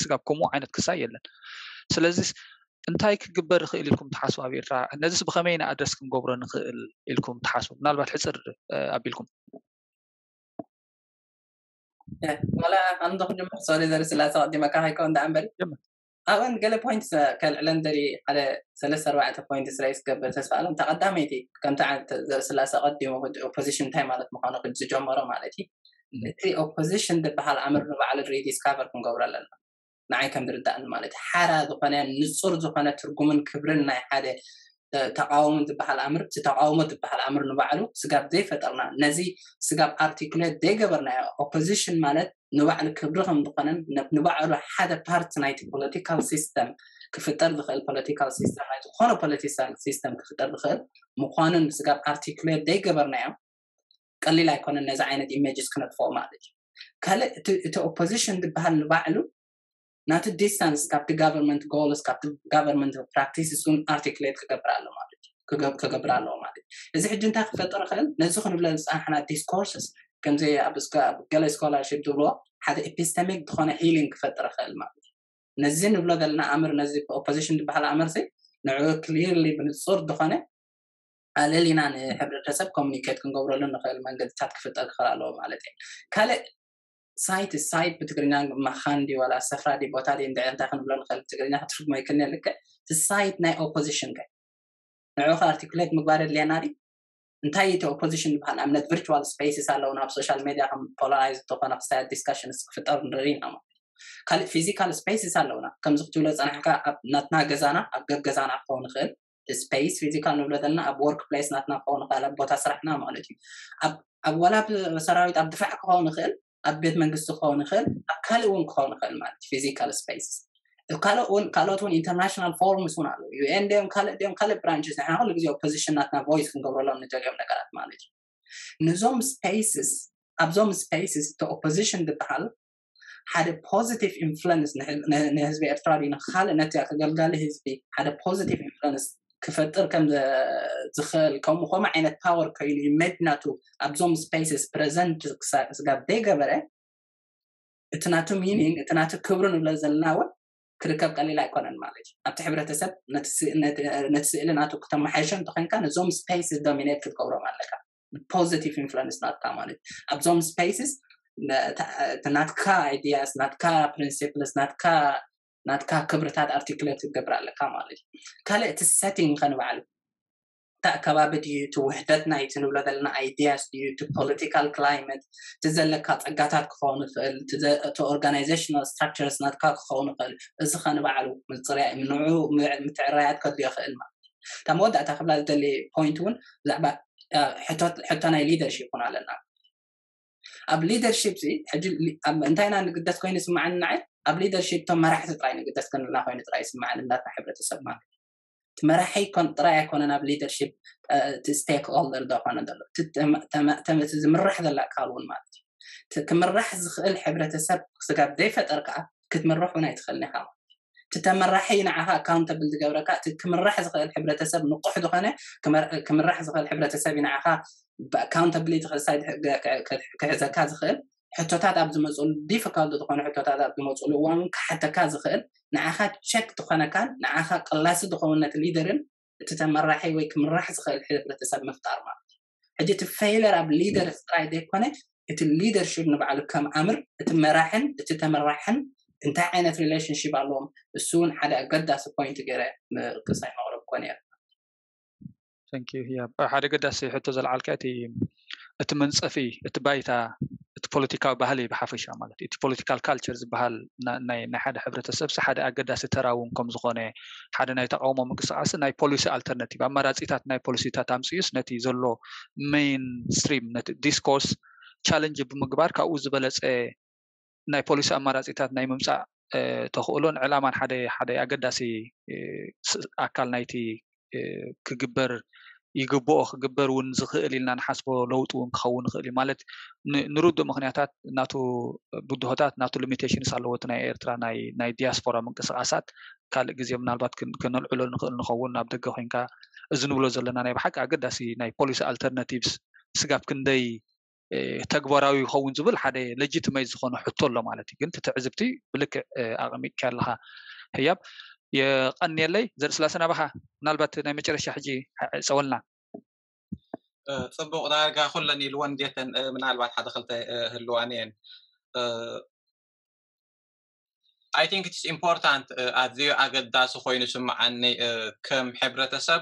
ስጋብ ከምኡ ዓይነት ክሳይ የለን። ስለዚ እንታይ ክግበር ይኽእል ኢልኩም ትሓስቡ ኣብ ኤርትራ? ነዚስ ብኸመይ ኢና ኣድረስ ክንገብሮ ንኽእል ኢልኩም ትሓስቡ? ምናልባት ሕፅር ኣቢልኩም ዋላ ኣንዶ ክጅምር ሶሪ ዘርኢ ስላሳ ቀዲመካ ሃይኮ እንዳ ኣንበሪ ኣብን ገለ ፖይንት ከልዕለን ደሪ ሓደ ሰለስተ ኣርባዕተ ፖይንት ስራይ ስገብር ተስፋ ኣለም ተቐዳመይቲ ከምቲ ዘርኢ ስላሳ ቀዲሙ ኦፖዚሽን እንታይ ማለት ምዃኑ ዝጀመሮ ማለት እዩ። እቲ ኦፖዚሽን ዝበሃል ኣምር ንባዕሉ ሪዲስካቨር ክንገብሮ ኣለና። ንዓይ ከም ዝርዳእኒ ማለት ሓራ ዝኾነ ንጹር ዝኾነ ትርጉምን ክብርን ናይ ሓደ ተቃወሞ ዝበሃል ኣምር እቲ ተቃውሞ ዝበሃል ኣምር ንባዕሉ ስጋብ ዘይፈጠርና ነዚ ስጋብ ኣርቲኩሌት ዘይገበርናዮ ኦፖዚሽን ማለት ንባዕሉ ክብሪ ከም ዝኾነን ንባዕሉ ሓደ ፓርት ናይቲ ፖለቲካል ሲስተም ክፍጠር ዝኽእል ፖለቲካል ሲስተም ናይ ዝኾነ ፖለቲካል ሲስተም ክፍጠር ዝኽእል ምዃኑን ስጋብ ኣርቲክሌት ደይገበርናዮ ቀሊል ኣይኮነን ነዚ ዓይነት ኢሜጅስ ክነጥፍኦ ማለት እዩ። ካልእ እቲ ኦፖዚሽን ዝበሃል ንባዕሉ ናቲ ዲስታንስ ካብቲ ጋቨርንመንት ጎልስ ካብቲ ጋቨርንመንት ፕራክቲስስ እውን ኣርቲክሌት ክገብር ኣሎ ማለት እዩ። ክገብር ኣለዎ ማለት እዩ። እዚ ሕጂ እንታይ ክፈጥር ይኽእል? ነዚ ክንብለ ዝፀናሕና ዲስኮርስስ ከምዚ ኣብ ገለ ስኮላርሽፕ ዝብልዎ ሓደ ኤፒስተሚክ ዝኾነ ሂሊንግ ክፈጥር ይኽእል ማለት እዩ። ነዚ ንብሎ ዘለና ኣምር ነዚ ኦፖዚሽን ዝበሃል ኣምር ሲ ንዕኡ ክሊርሊ ብንፁር ዝኾነ ኣለሊና ንሕብረተሰብ ኮሚኒኬት ክንገብረሉ ንኽእል መንገድታት ክፍጠር ክኽእል ኣለዎ ማለት እዩ። ካልእ ሳይት ሳይት ብትግርኛ መኻን ዲ ዋላ ሰፍራ ዲ ቦታ ዲ እንድዒ እንታይ ክንብሎ ንኽእል ብትግርኛ ክትርጉሞ ይክእል ልክዕ እቲ ሳይት ናይ ኦፖዚሽን ከ ንዕኡ ኣርቲኩሌት ምግባር የድልየና ዲ እንታይ እቲ ኦፖዚሽን ዝበሃል ኣብነት ቪርቹዋል ስፔስስ ኣለውና ኣብ ሶሻል ሜዲያ ከም ፖላራይዝ ዝኾነ ክሳያት ዲስካሽንስ ክፍጠር ንርኢ ኢና ማለት ካልእ ፊዚካል ስፔስስ ኣለውና ከምዚ ክትብሎ ፀናሕካ ኣብ ናትና ገዛና ኣብ ገገዛና ክኸውን ይኽእል ስፔስ ፊዚካል ንብሎ ዘለና ኣብ ወርክ ፕሌስ ናትና ክኸውን ይኽእል ኣብ ቦታ ስራሕና ማለት እዩ ኣብ ዋላ ሰራዊት ኣብ ድፋዕ ክኸውን ይኽእል ኣብ ቤት መንግስቲ ክኸውን ይኽእል ኣብ ካልእ እውን ክኸውን ይኽእል ማለት ፊዚካል ስፔስ ካልኦት እውን ኢንተርናሽናል ፎርምስ እውን ኣለዉ ዩኤን ድዮም ካልእ ድዮም ካልእ ብራንችስ ንሕና ኩሉ ግዜ ኦፖዚሽን ናትና ቮይስ ክንገብረሎም ንደልዮም ነገራት ማለት እዩ ነዞም ስፔስስ ኣብዞም ስፔስስ እቲ ኦፖዚሽን ዝበሃል ሓደ ፖዚቲቭ ኢንፍሉንስ ንህዝቢ ኤርትራ ድዩ ንካልእ ነቲ ኣገልጋሊ ህዝቢ ሓደ ፖዚቲቭ ኢንፍሉንስ ክፈጥር ከም ዝኽእል ከምኡ ከምኡ ዓይነት ፓወር ኮይኑ ኢሜጅ ናቱ ኣብዞም ስፔስስ ፕረዘንት ስጋብ ዘይገበረ እቲ ናቱ ሚኒንግ እቲ ናቱ ክብሪ ንብሎ ዘለና እውን ክርከብ ቀሊል ኣይኮነን ማለት እዩ ኣብቲ ሕብረተሰብ ነቲ ስእሊ ናቱ ክተመሓይሾ እንተኮይንካ ነዞም ስፔስስ ዶሚኔት ክትገብሮም ኣለካ ፖዚቲቭ ኢንፍሉንስ ናትካ ማለት ኣብዞም ስፔስስ ናትካ ኣይዲያስ ናትካ ፕሪንሲፕልስ ናትካ ናትካ ክብርታት ኣርቲክሌት ክትገብር ኣለካ ማለት እዩ ካልእ እቲ ሴቲንግ ከንባዕሉ እቲ ኣከባቢ ድዩ እቲ ውሕደት ናይቲ ንብሎ ዘለና ኣይዲያስ ድዩ እቲ ፖለቲካል ክላይመት እቲ ዘለካ ፀጋታት ክኸውን ይኽእል እቲ ኦርጋናይዜሽናል ስትራክቸርስ ናትካ ክኸውን ይኽእል እዚ ከንባዕሉ ምፅርያ ንዑ ምትዕራያት ከድልዮ ይኽእል ማለት እታ መወዳእታ ክብላ ዝደሊ ፖይንት እውን ብዛዕባ ሕቶ ናይ ሊደርሽፕ እውን ኣለና ኣብ ሊደርሽፕ ሕጂ እንታይ ኢና ንግደስ ኮይኑ ይስምዓኒ ንዓይ ኣብ ሊደርሽፕ እቶም መራሕቲ ጥራይ ንግደስ ክንልና ኮይኑ ጥራይ ይስምዓኒ እናትና ሕብረተሰብ ማለት እቲ መራሒ ጥራይ ኣይኮነን ኣብ ሊደርሽፕ እቲ ስቴክ ሆልደር ዶ ኮነ ዘሎ እቲ ዝምራሕ ዘላ ኣካል እውን ማለት እዩ ክምራሕ ዝኽእል ሕብረተሰብ ስጋብ ዘይፈጠር ከዓ ክትምራሕ እውን ኣይትኽእልን ኢኻ ማለት እዩ እቲ ተመራሒ ንዓኻ ኣካውንተብል ዝገብረካ እቲ ክምራሕ ዝኽእል ሕብረተሰብ ንቑሕ ዝኾነ ክምራሕ ዝኽእል ሕብረተሰብ እዩ ንዓኻ ኣካውንተብሊቲ ክሳይ ክሕዘካ ዝኽእል ሕቶታት ኣብ ዝመፅሉ ዲፊካልት ዝኾነ ሕቶታት ኣብ ዝመፅሉ እዋን ክሓተካ ዝኽእል ንዓኻ ቸክ ዝኾነካን ንዓኻ ቅላሲ ዝኸውን ነቲ ሊደርን እቲ ተመራሒ ወይ ክምራሕ ዝኽእል ሕብረተሰብ ምፍጣር ማለት እዩ ሕጂ እቲ ፌይለር ኣብ ሊደር ጥራይ ዘይኮነ እቲ ሊደርሽፕ ንባዕሉ ከም ኣምር እቲ መራሕን እቲ ተመራሕን እንታይ ዓይነት ሪሌሽንሽፕ ኣለዎም እሱ እውን ሓደ ኣገዳሲ ፖይንት ገይረ ክሳይ መቕረብ ኮነ እየ ሓደ ገዳሲ ሕቶ ዘልዓልካ እቲ እቲ መንፀፊ እቲ ባይታ እቲ ፖለቲካዊ ባህሊ ብሓፈሻ ማለት እቲ ፖለቲካል ካልቸር ዝበሃል ናይ ሓደ ሕብረተሰብ ሓደ ኣገዳሲ ተራ እውን ከም ዝኾነ ሓደ ናይ ተቃውሞ ምንቅስቃስ ናይ ፖሊሲ ኣልተርናቲቭ ኣማራፂታት ናይ ፖሊሲታት ኣምፅኡስ ነቲ ዘሎ ሜይን ስትሪም ነቲ ዲስኮርስ ቻለንጅ ብምግባር ካብኡ ዝበለፀ ናይ ፖሊሲ ኣማራፂታት ናይ ምምፃእ ተኽእሎን ዕላማን ሓደ ሓደ ኣገዳሲ ኣካል ናይቲ ክግበር ይግብኦ ክግበር እውን ዝኽእል ኢልና ንሓስቦ ለውጢ እውን ክኸውን ይኽእል እዩ ማለት ንርዱእ ምክንያታት ናቱ ብድሆታት ናቱ ሊሚቴሽንስ ኣለዎ እቲ ናይ ኤርትራ ናይ ዲያስፖራ ምንቅስቃሳት ካልእ ግዜ ምናልባት ከነልዕሎ ንኽእል ንኸውን ናብ ደገ ኮይንካ እዚ ንብሎ ዘለና ናይ ብሓቂ ኣገዳሲ ናይ ፖሊሲ ኣልተርናቲቭስ ስጋብ ክንደይ ተግባራዊ ይኸውን ዝብል ሓደ ለጂትመይት ዝኾነ ሕቶ ኣሎ ማለት እዩ ግን ትትዕዝብቲ ብልክዕ ኣቐሚጥካ ኣለኻ ህያብ የቐንየለይ ዘርእስላሰ ናባኻ ምናልባት ናይ መጨረሻ ሕጂ ፀወልና ፅቡቕ ዳርጋ ኩለን ኢልወን ጌተን ምናልባት ሓደ ክልተ ህልዋን እየን I think it's important ኣዝዩ ኣገዳሲ ኮይኑ ስምዓኒ ከም ሕብረተሰብ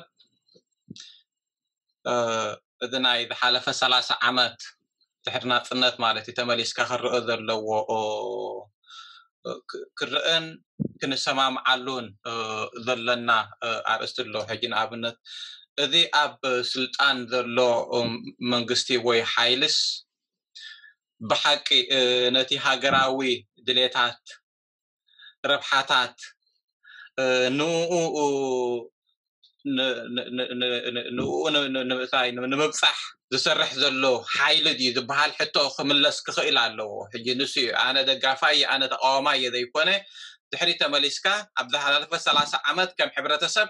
እዚ ናይ ዝሓለፈ ሰላሳ ዓመት ድሕሪ ናፅነት ማለት እዩ ተመሊስካ ክረአ ዘለዎ ክረአን ክንሰማምዓሉን ዘለና ኣርእስቲ ኣሎ ሕጂ ንኣብነት እዚ ኣብ ስልጣን ዘሎ መንግስቲ ወይ ሓይልስ ብሓቂ ነቲ ሃገራዊ ድሌታት፣ ረብሓታት ንኡ ንኡ ንምእታይ ንምብፃሕ ዝሰርሕ ዘሎ ሓይሊ ድዩ ዝበሃል ሕቶ ክምለስ ክኽእል ኣለዎ። ሕጂ ንሱ እዩ ኣነ ደጋፋይ ኣነ ተቃዋማይ እየ ዘይኮነ፣ ድሕሪ ተመሊስካ ኣብ ዝሓላለፈ ሰላሳ ዓመት ከም ሕብረተሰብ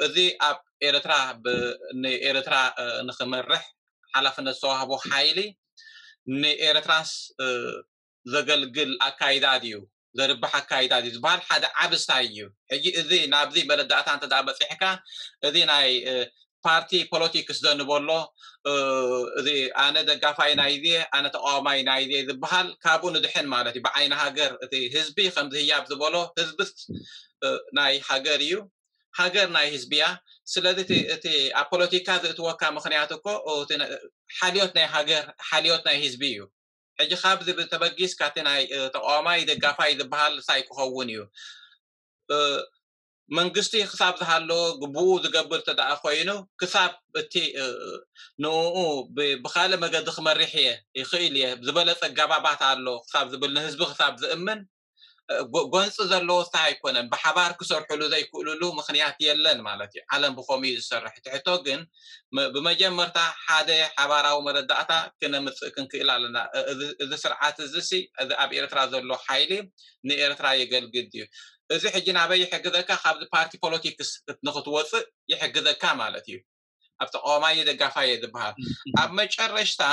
እዚ ኣብ ኤርትራ ንኤርትራ ንክመርሕ ሓላፍነት ዝተዋህቦ ሓይሊ ንኤርትራስ ዘገልግል ኣካይዳ ድዩ ዘርብሕ ኣካይዳ ድዩ ዝበሃል ሓደ ዓብ ስታይ እዩ። ሕጂ እዚ ናብዚ መረዳእታ እንተ በፂሕካ እዚ ናይ ፓርቲ ፖለቲክስ ዘንበሎ እዚ ኣነ ደጋፋይ ናይዚ ኣነ ተቃዋማይ ናይዚ ዝበሃል ካብኡ ንድሕን ማለት እዩ። ብዓይኒ ሃገር እቲ ህዝቢ ከምዚ ህያብ ዝበሎ ህዝብስ ናይ ሃገር እዩ፣ ሃገር ናይ ህዝቢ እያ። ስለዚ እቲ ኣብ ፖለቲካ ዘእትወካ ምክንያት እኮ ሓልዮት ናይ ሃገር ሓልዮት ናይ ህዝቢ እዩ። ሕጂ ካብዚ ብተበጊስ ካቲ ናይ ተቃዋማይ ደጋፋይ ዝበሃል ሳይ ክኸውን እዩ። መንግስቲ ክሳብ ዝሃሎ ግቡኡ ዝገብር ተደኣ ኮይኑ ክሳብ እቲ ንኡ ብካልእ መገዲ ክመሪሕ እየ ይኽእል እየ ዝበለፀ ኣገባባት ኣሎ ክሳብ ዝብል ንህዝቢ ክሳብ ዝእምን ጎንፂ ዘለዎ ስታይ ኣይኮነን። ብሓባር ክሰርሕሉ ዘይክእልሉ ምክንያት የለን ማለት እዩ። ዓለም ብከምኡ እዩ ዝሰርሕ። እቲ ሕቶ ግን ብመጀመርታ ሓደ ሓባራዊ መረዳእታ ክነምፅእ ክንክእል ኣለና። እዚ ስርዓት እዚ ሲ እዚ ኣብ ኤርትራ ዘሎ ሓይሊ ንኤርትራ የገልግል ድዩ? እዚ ሕጂ ናበይ ይሕግዘካ? ካብዚ ፓርቲ ፖለቲክስ ንክትወፅእ ይሕግዘካ ማለት እዩ። ኣብ ተቃዋማይ ደጋፋይ እየ ዝበሃል። ኣብ መጨረሽታ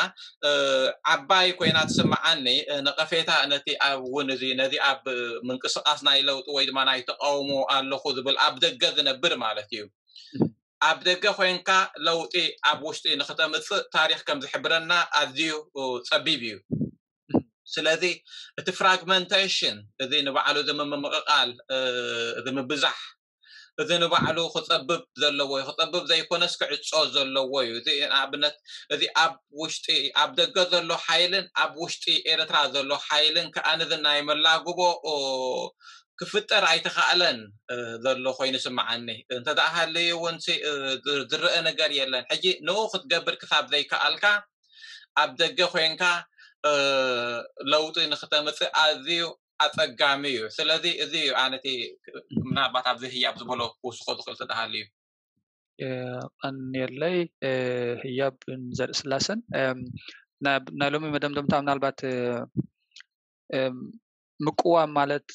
ዓባይ ኮይና ትስምዓኒ ነቀፌታ ነቲ ኣብ እውን እዚ ነዚ ኣብ ምንቅስቃስ ናይ ለውጢ ወይ ድማ ናይ ተቃውሞ ኣለኹ ዝብል ኣብ ደገ ዝነብር ማለት እዩ። ኣብ ደገ ኮይንካ ለውጢ ኣብ ውሽጢ ንክተምፅእ ታሪክ ከም ዝሕብረና ኣዝዩ ፀቢብ እዩ። ስለዚ እቲ ፍራግመንቴሽን እዚ ንባዕሉ እዚ ምምቕቓል እዚ ምብዛሕ እዚ ንባዕሉ ክፀብብ ዘለዎ እዩ። ክፀብብ ዘይኮነስ ክዕፆ ዘለዎ እዩ። እዚ ንኣብነት እዚ ኣብ ውሽጢ ኣብ ደገ ዘሎ ሓይልን ኣብ ውሽጢ ኤርትራ ዘሎ ሓይልን ከኣ ነዚ ናይ መላግቦ ክፍጠር ኣይተኻእለን ዘሎ ኮይኑ ስምዓኒ። እንተ ደኣ ሃለዩ እውን ዝረአ ነገር የለን። ሕጂ ንኡ ክትገብር ክሳብ ዘይከኣልካ ኣብ ደገ ኮይንካ ለውጢ ንክተምፅእ ኣዝዩ ኣፀጋሚ እዩ። ስለዚ እዚ እዩ ኣነቲ ምናልባት ኣብዚ ህያብ ዝበሎ ክውስኮ ዝኽእል ተደሃሉ እዩ። ቀንየለይ ህያብ ዘርኢ ስላሰን ናይ ሎሚ መደምደምታ ምናልባት ምቅዋም ማለት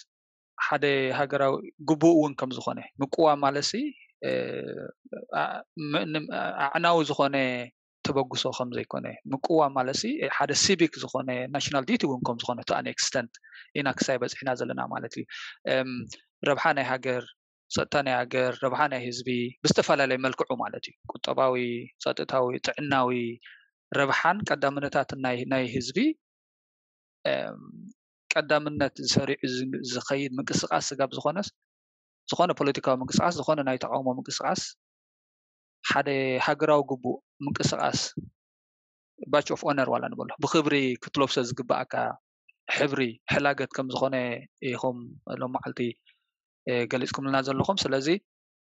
ሓደ ሃገራዊ ግቡእ እውን ከም ዝኾነ ምቅዋም ማለት ሲ ኣዕናዊ ዝኾነ ተበግሶ ከም ዘይኮነ ምቅዋም ማለት ሲ ሓደ ሲቪክ ዝኾነ ናሽናል ዲቲ እውን ከም ዝኾነ to an extent ኢና ክሳይ በፂሕና ዘለና ማለት እዩ። ረብሓ ናይ ሃገር፣ ፀጥታ ናይ ሃገር፣ ረብሓ ናይ ህዝቢ ብዝተፈላለየ መልክዑ ማለት እዩ። ቁጠባዊ፣ ፀጥታዊ፣ ጥዕናዊ ረብሓን ቀዳምነታትን ናይ ህዝቢ ቀዳምነት ዝሰሪዑ ዝኸይድ ምንቅስቃስ ስጋብ ዝኾነስ ዝኾነ ፖለቲካዊ ምንቅስቃስ ዝኾነ ናይ ተቃውሞ ምንቅስቃስ ሓደ ሃገራዊ ግቡእ ምንቅስቃስ ባች ኦፍ ኦነር ዋላ ንበሎ ብክብሪ ክትለብሶ ዝግባኣካ ሕብሪ ሕላገት ከም ዝኾነ ኢኹም ሎም መዓልቲ ገሊፅኩምልና ዘለኹም። ስለዚ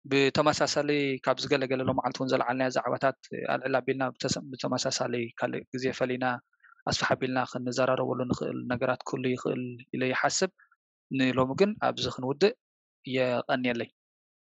ብተመሳሳሊ ካብዚ ገለገለ ሎም መዓልቲ እውን ዘለዓልናዮ ዛዕባታት ኣልዕል ኣቢልና ብተመሳሳሊ ካልእ ግዜ ፈሊና ኣስፍሕ ኣቢልና ክንዘራረበሉ ንኽእል ነገራት ክህሉ ይኽእል ኢለ ይሓስብ። ንሎሚ ግን ኣብዚ ክንውድእ። የቐንየለይ።